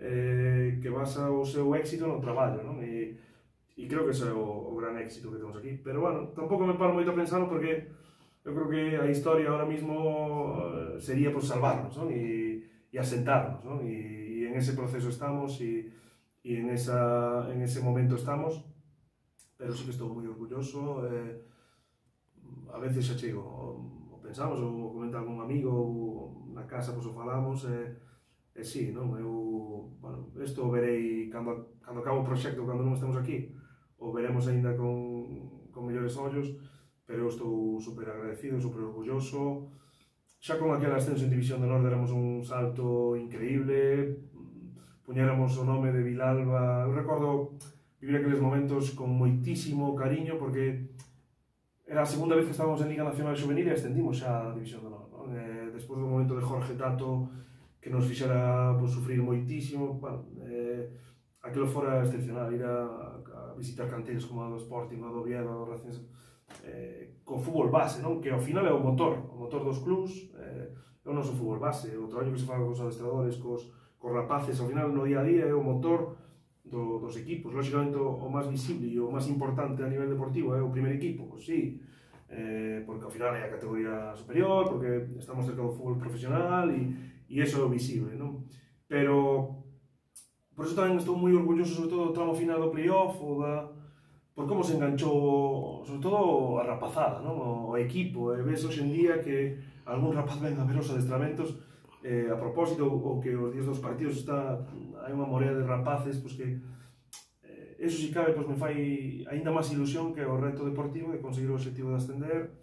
eh, que basa o seu éxito no traballo, non? E, e creo que ese é o, o gran éxito que temos aquí. Pero, bueno, tampouco me paro moito a pensarlo porque eu creo que a historia ahora mismo sería pues, salvarnos, non? E, e asentarnos, non? E, e en ese proceso estamos e, e en, esa, en ese momento estamos. Pero sí que estou moi orgulloso, eh, a veces xa chego, o, o pensamos, ou comenta algún amigo, ou na casa pois, o falamos, e, e sí, non, eu, bueno, isto o verei cando, cando acabo o proxecto, cando non estemos aquí, o veremos aínda con, con mellores ollos, pero eu estou super agradecido, super orgulloso, xa con aquel ascenso en División de Honor éramos un salto increíble, puñéramos o nome de Vilalba, eu recordo vivir aqueles momentos con moitísimo cariño porque era a segunda vez que estábamos en Liga Nacional Xuvenil e ascendimos xa a División de Honor, non? Eh, despois do momento de Jorge Tato que nos fixera pues, sufrir moitísimo, bueno, eh, aquilo fora excepcional, ir a, a visitar canteiros como a do Sporting, a do Oviedo, a do Racing, eh, co fútbol base, non? Que ao final é o motor, o motor dos clubs, eh, é o noso fútbol base, o traballo que se faga cos adestradores, cos, cos rapaces, ao final no día a día é o motor Do, dos equipos. Lógicamente o, o máis visible e o máis importante a nivel deportivo é o primer equipo, pois sí, eh, porque ao final é a categoría superior, porque estamos cerca do fútbol profesional e, e eso é o visible, non? Pero por eso tamén estou moi orgulloso sobre todo do tramo final do playoff ou da, por como se enganchou sobre todo a rapazada, non? O, o equipo, e ves hoxe en día que algún rapaz ven a ver os adestramentos eh, a propósito, o que os días dos partidos está, hai unha morea de rapaces, pois que eh, eso si cabe, pois me fai aínda máis ilusión que o reto deportivo de conseguir o objetivo de ascender,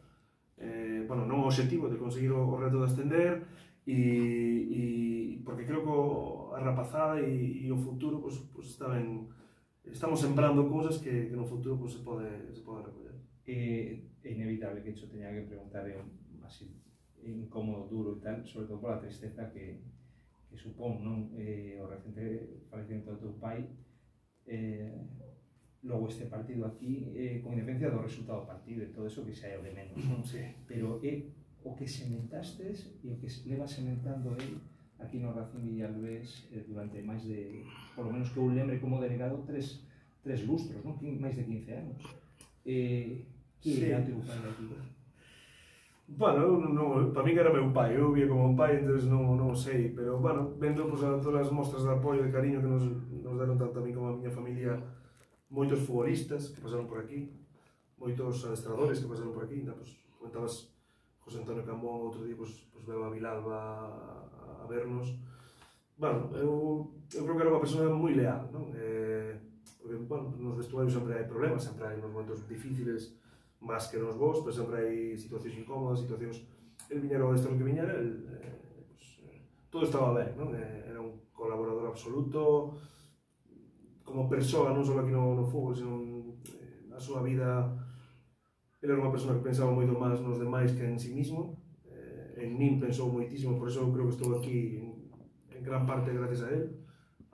eh, bueno, non o objetivo de conseguir o, o reto de ascender, e, e porque creo que o, a rapazada e, e o futuro, pois, pois está ben, estamos sembrando cousas que, que no futuro pois, se pode, se pode recoller. É, é inevitable que isto teña que preguntar así, incómodo, duro e tal, sobre todo pola tristeza que, que supón, non? Eh, o recente falecimento do teu pai, eh, logo este partido aquí, eh, con independencia do resultado do partido e todo eso que xa é o de menos, non? Sí. Pero é o que sementastes e o que leva sementando el aquí no Racing Villalbés eh, durante máis de, por lo menos que eu lembre como delegado, tres, tres lustros, non? Máis de quince anos. Eh, que sí. Era o teu pai aquí? Bueno, non, para min era meu pai, eu via como un pai, entón non, non sei, pero, bueno, vendo pues, a todas as mostras de apoio e de cariño que nos, nos deron tanto a mí como a miña familia, moitos futbolistas que pasaron por aquí, moitos adestradores que pasaron por aquí, ainda, pues, comentabas José Antonio Cambón, outro día, pues, pues veo a Vilalba a, a vernos. Bueno, eu, eu creo que era unha persona moi leal, non? Eh, porque, bueno, nos vestuarios sempre hai problemas, sempre hai uns momentos difíciles, máis que nos vos, pero sempre hai situacións incómodas, situacións... El viñera o destro que viñera, el, eh, pues, eh, todo estaba ben, non? Eh, era un colaborador absoluto, como persoa, non só aquí no, no fútbol, sino eh, na súa vida, ele era unha persona que pensaba moito máis nos demais que en sí mismo, eh, en min pensou moitísimo, por eso eu creo que estou aquí en, en gran parte gracias a él,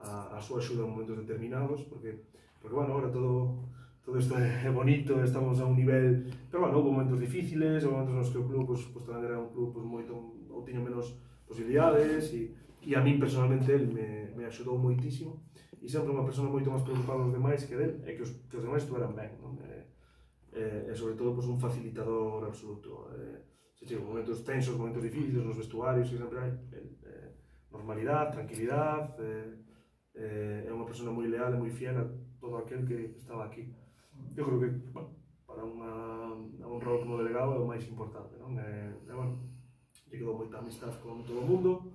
a, a súa axuda en momentos determinados, porque, porque bueno, ahora todo... todo isto é bonito, estamos a un nivel, pero bueno, houve momentos difíciles, houve momentos nos que o club pues, pues, tamén era un club pues, moito, ou tiña menos posibilidades, e, e a min personalmente el me, me axudou moitísimo, e sempre unha persona moito máis preocupada dos demais que del, e que os, que os demais estuveran ben, non? E, e, e sobre todo pues, un facilitador absoluto, e, se chega, momentos tensos, momentos difíciles nos vestuarios, que sempre hai eh, normalidade, tranquilidade, eh, é unha persona moi leal e moi fiel a todo aquel que estaba aquí. Eu creo que, bueno, para unha, un rol como delegado é o máis importante, non? E, e bueno, lle quedou moita amistad con todo o mundo.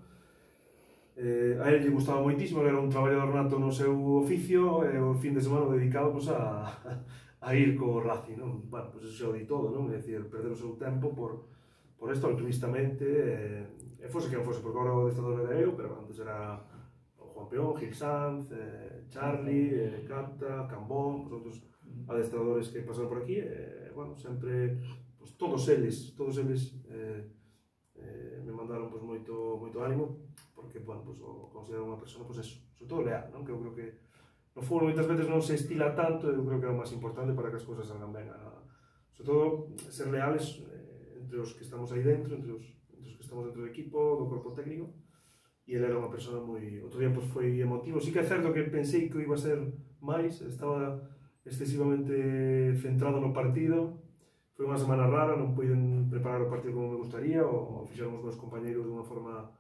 Eh, a él lle gustaba moitísimo, era un traballador nato no seu oficio, e o fin de semana dedicado pues, a, a ir co Racing, non? Bueno, pues eso xa o di todo, non? É dicir, perder o seu tempo por, por isto altruistamente, e, e fose quen fose, porque agora o adestrador era eu, pero antes era o Juan Peón, Gil Sanz, eh, Charlie, eh, Capta, Cambón, pues, outros adestradores que pasaron por aquí, e, bueno, sempre, pues, todos eles, todos eles eh, eh, me mandaron pues, moito, moito ánimo, porque, bueno, pues, o considero unha persona, pues eso, sobre todo leal, non? Que eu creo que no fútbol moitas veces non se estila tanto, eu creo que é o máis importante para que as cousas salgan ben. Sobre todo, ser leales eh, entre os que estamos aí dentro, entre os, entre os que estamos dentro do equipo, do corpo técnico, e ele era unha persona moi... Outro día pues, foi emotivo. Sí que é certo que pensei que iba a ser máis, estaba excesivamente centrado no partido, foi unha semana rara, non puiden preparar o partido como me gustaría, o, o fixeron os meus compañeiros de unha forma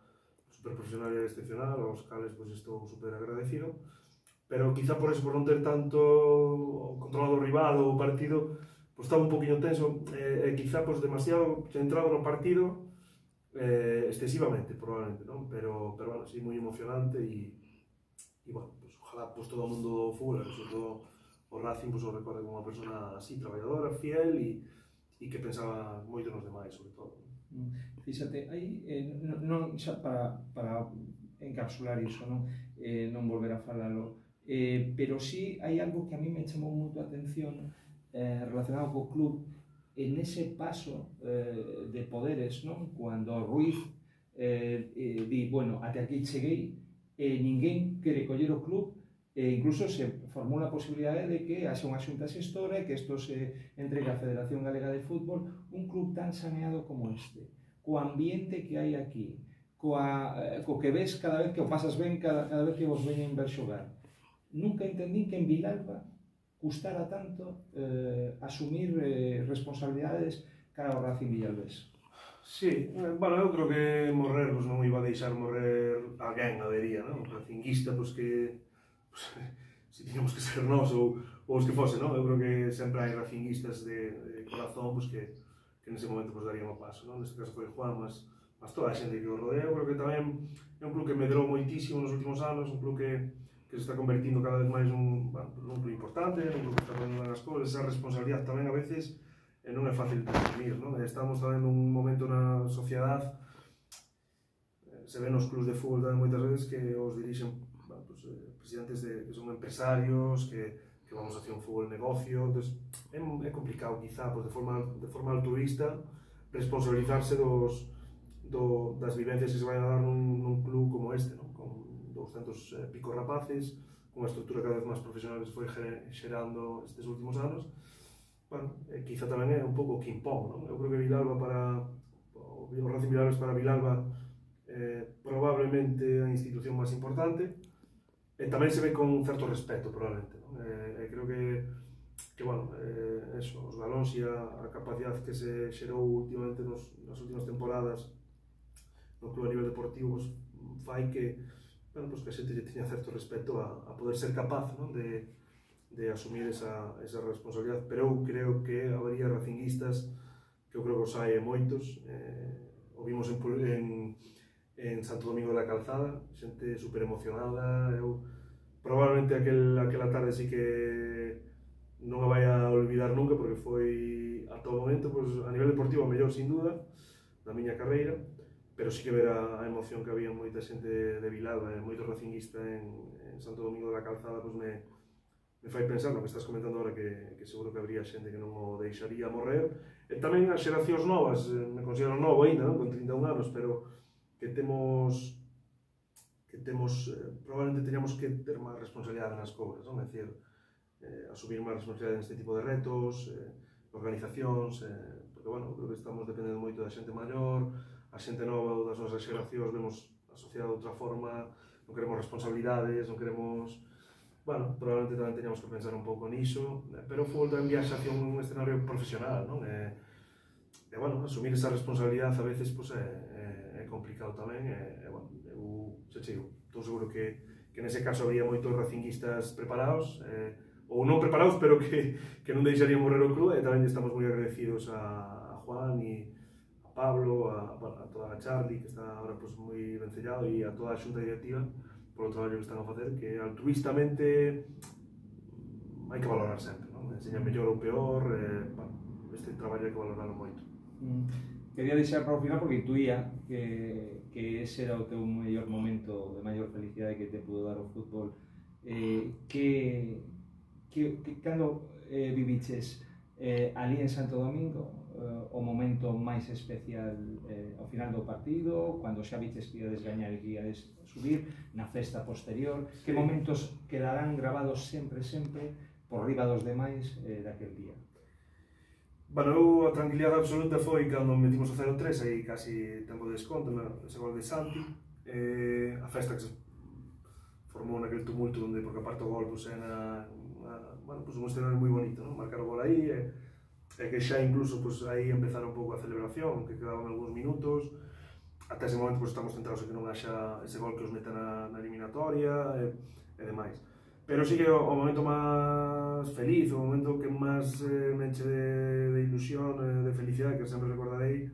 super profesional e excepcional, aos cales pues, estou super agradecido, pero quizá por eso, por non ter tanto controlado o rival ou o partido, pues, estaba un poquinho tenso, e, e quizá pues, demasiado centrado no partido, eh, excesivamente, probablemente, non? Pero, pero bueno, sí, moi emocionante e, e bueno, pues, ojalá pues, todo o mundo do fútbol, sobre todo o Racing, pues, o recorde como unha persona así, traballadora, fiel e, e que pensaba moito nos demais, sobre todo. Fíxate, aí, eh, non, non xa para, para encapsular iso, non, eh, non volver a falalo, eh, pero sí hai algo que a mí me chamou moito a atención eh, relacionado co club en ese paso eh, de poderes, non? Cuando Ruiz eh, eh, di, bueno, até aquí cheguei, e eh, ninguén quere coller o club, e incluso se formula a posibilidade de que haxa unha xunta xestora e que isto se entregue á Federación Galega de Fútbol, un club tan saneado como este, co ambiente que hai aquí, coa, eh, co que ves cada vez que o pasas ben, cada, cada vez que vos veñen ver xogar. Nunca entendín que en Vilalba custara tanto eh, asumir eh, responsabilidades cara ao Racing Vilalbés. Sí, bueno, eu creo que morrer, pues, non iba a deixar morrer alguén, habería, non? Un racinguista, pues, que pues, si tiñamos que ser nós ou, ou os que fose, non? Eu creo que sempre hai racinguistas de, de corazón, pues, que, que nese momento pues, darían o paso, non? Neste caso foi Juan, mas, mas toda a xente que o rodea. Eu creo que tamén é un club que medrou moitísimo nos últimos anos, un club que que se está convertindo cada vez máis nun, bueno, nun club importante, nun club que está facendo as cousas, esa responsabilidade tamén a veces eh, non é fácil de asumir, non? Estamos tamén nun momento na sociedade, eh, se ven nos clubs de fútbol tamén moitas veces que os dirixen bueno, pues, eh, presidentes de, que son empresarios, que, que vamos a hacer un fútbol negocio, entonces é, é complicado quizá pues, de, forma, de forma altruista responsabilizarse dos, do, das vivencias que se vayan a dar nun, nun club como este, non? Con douscentos e pico rapaces, cunha estrutura cada vez máis profesional que se foi xerando estes últimos anos. Bueno, eh, quizá tamén é un pouco o que impón, non? Eu creo que Vilalba para o Racing Vilalba para Vilalba eh, probablemente a institución máis importante, e tamén se ve con certo respeto, probablemente, non? Eh, creo que, que bueno, eh, eso, os galóns e a, a capacidade que se xerou últimamente nos, nas últimas temporadas no club a nivel deportivo, pues, fai que bueno, pues que a xente lle tiña certo respeto a, a poder ser capaz, non? De, de asumir esa, esa responsabilidade, pero eu creo que habería racinguistas que eu creo que os hai moitos, eh, o vimos en, en, en Santo Domingo da Calzada, xente super emocionada, eu probablemente aquel, aquela tarde sí que non a vai a olvidar nunca porque foi a todo momento, pues, a nivel deportivo a mellor sin duda da miña carreira, pero sí que ver a, a emoción que había moita xente de, de Vilalba e moito racinguista en, en Santo Domingo da Calzada, pues me, me fai pensar no que estás comentando agora que, que seguro que habría xente que non o deixaría morrer, e tamén as xeracións novas, me considero novo ainda, non? Con trinta e un anos, pero que temos que temos, eh, probablemente teñamos que ter máis responsabilidade nas cousas, non? É dicir, eh, asumir máis responsabilidade neste tipo de retos, eh, organizacións, eh, porque, bueno, creo que estamos dependendo moito da xente maior, a xente nova ou das nosas xeracións vemos a sociedade de outra forma, non queremos responsabilidades, non queremos... Bueno, probablemente tamén teñamos que pensar un pouco niso, pero o fútbol tamén viaxa hacia un escenario profesional, non? E, e bueno, asumir esa responsabilidade a veces pues, é, é, é complicado tamén, e, e bueno, eu xa chego, estou seguro que, que nese caso habría moitos racinguistas preparados, eh, ou non preparados, pero que, que non deixarían morrer o club, e tamén estamos moi agradecidos a, a Juan e Pablo, a, a toda a Charlie, que está ahora pues, moi vencellado, e a toda a xunta directiva polo traballo que están a facer, que altruistamente hai que valorar sempre, non? Enseña mellor ou peor, eh, bueno, este traballo hai que valorarlo moito. Mm. Quería deixar para o final porque intuía que, que ese era o teu mellor momento de maior felicidade que te pudo dar o fútbol. Eh, que, que, que cando eh, viviches eh, ali en Santo Domingo, eh, o momento máis especial eh, ao final do partido, cando xa viches que iades gañar e que iades subir, na festa posterior, que momentos quedarán grabados sempre, sempre, por riba dos demais eh, daquel día? Bueno, eu a tranquilidade absoluta foi cando metimos o cero tres, aí casi tempo de desconto, ese gol de Santi, eh, a festa que se formou naquele tumulto onde, porque aparte o gol, pues, era na, bueno, pues, un escenario moi bonito, ¿no? Marcar o gol aí, e, e que xa incluso pues, aí empezar un pouco a celebración, que quedaban algúns minutos, ata ese momento pues, estamos centrados en que non haxa ese gol que os meta na, na eliminatoria e, e demais. Pero sí que o, o momento máis feliz, o momento que máis eh, me enche de, de ilusión, eh, de felicidade, que sempre recordarei,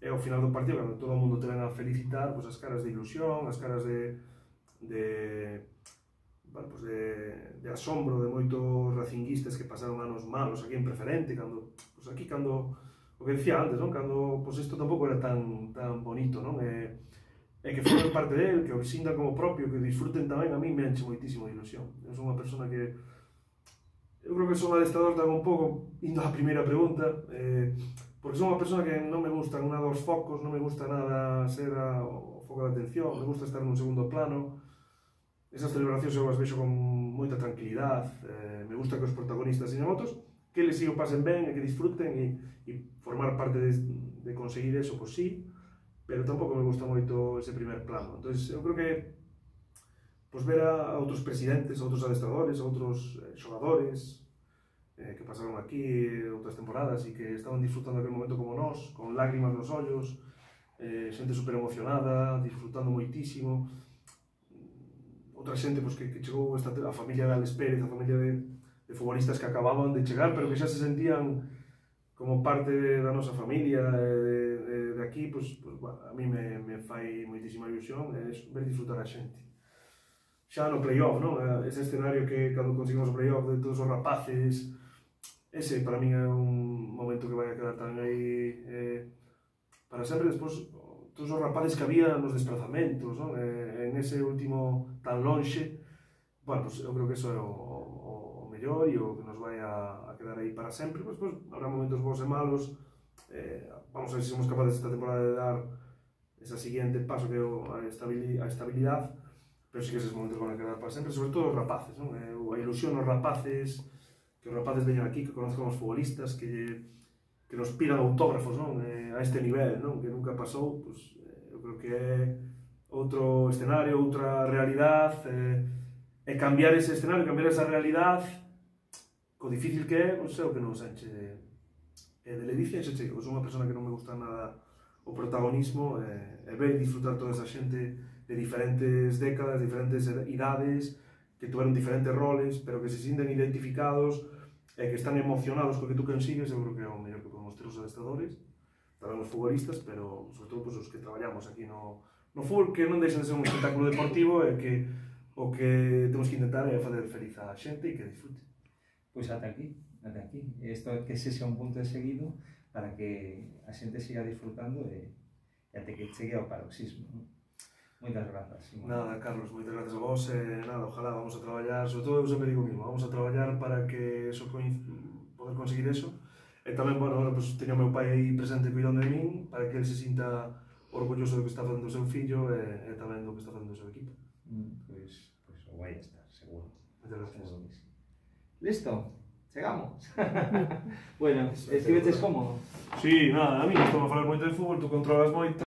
é o final do partido, cando todo o mundo te ven a felicitar, pues, as caras de ilusión, as caras de, de, bueno, pues de, de asombro de moitos racinguistas que pasaron anos malos aquí en Preferente, cando, pues aquí cando, o que decía antes, non? Cando pues isto tampouco era tan, tan bonito, non? E, e que formen parte del, que o sintan como propio, que disfruten tamén, a mí me enche moitísimo de ilusión. Eu son unha persona que, eu creo que son adestrador tamén un pouco, indo á primeira pregunta, eh, porque son unha persona que non me gustan nada os focos, non me gusta nada ser a, o foco de atención, me gusta estar nun segundo plano. Esas celebracións eu as vexo con moita tranquilidade, eh, me gusta que os protagonistas señan outros, que eles si o pasen ben e que disfruten e, e formar parte de, de conseguir eso, pois sí, pero tampouco me gusta moito ese primer plano. Entón, eu creo que pois, ver a outros presidentes, a outros adestradores, a outros eh, xogadores eh, que pasaron aquí outras temporadas e que estaban disfrutando aquel momento como nós, con lágrimas nos ollos, eh, xente super emocionada, disfrutando moitísimo. Outra xente pois, que, que chegou esta, a familia de Alex Pérez, a familia de, de futbolistas que acababan de chegar, pero que xa se sentían como parte da nosa familia, de, de, de aquí, pues, pues, bueno, a mí me, me fai moitísima ilusión é ver disfrutar a xente. Xa no play-off, non? Ese escenario que cando conseguimos o play-off de todos os rapaces, ese para mí é un momento que vai a quedar tan aí eh, para sempre. Despois, todos os rapaces que había nos desplazamentos, non? Eh, en ese último tan lonxe, bueno, pues, eu creo que eso é o, o, o mellor e o que nos vai a, a quedar aí para sempre. Pues, pues, habrá momentos bons e malos, eh, vamos a ver se somos capaces esta temporada de dar ese siguiente paso que é a estabilidade, a estabilidade, pero sí que esos momentos van a quedar para sempre, sobre todo os rapaces, non? Eh, a ilusión os rapaces, que os rapaces veñan aquí, que conozcan os futbolistas, que, que nos pidan autógrafos, non? Eh, a este nivel, non? Que nunca pasou, pues, eh, eu creo que é outro escenario, outra realidade, eh, e cambiar ese escenario, cambiar esa realidade, co difícil que é, pois é o que nos enche de, de ledicia, e xe chego, son unha persona que non me gusta nada o protagonismo, e, e ver e disfrutar toda esa xente de diferentes décadas, diferentes idades, que tuveron diferentes roles, pero que se sienten identificados e que están emocionados co que tú consigues. Eu creo que é o mellor que podemos ter os adestradores, tamén os futbolistas, pero sobre todo pues, os que traballamos aquí no, no fútbol, que non deixan de ser un espectáculo deportivo e que o que temos que intentar é fazer feliz a xente e que disfrute. Pois ata aquí, ata aquí. Isto que ese sea un punto de seguido para que a xente siga disfrutando e, e até que chegue ao paroxismo. ¿No? Moitas grazas, Simón. Nada, Carlos, moitas grazas a vos, e nada, ojalá vamos a traballar, sobre todo eu sempre digo mismo, vamos a traballar para que eso poder conseguir eso, e tamén, bueno, ahora pues, teño o meu pai aí presente cuidando de min, para que ele se sinta orgulloso do que está facendo o seu fillo e, e tamén do que está facendo o seu equipo. Mm, pois, pois o vai estar, seguro. Moitas gracias. Listo, chegamos. Bueno, estiveches cómodo? Sí, nada, a mí non estou a falar moito de fútbol, tú controlas moito.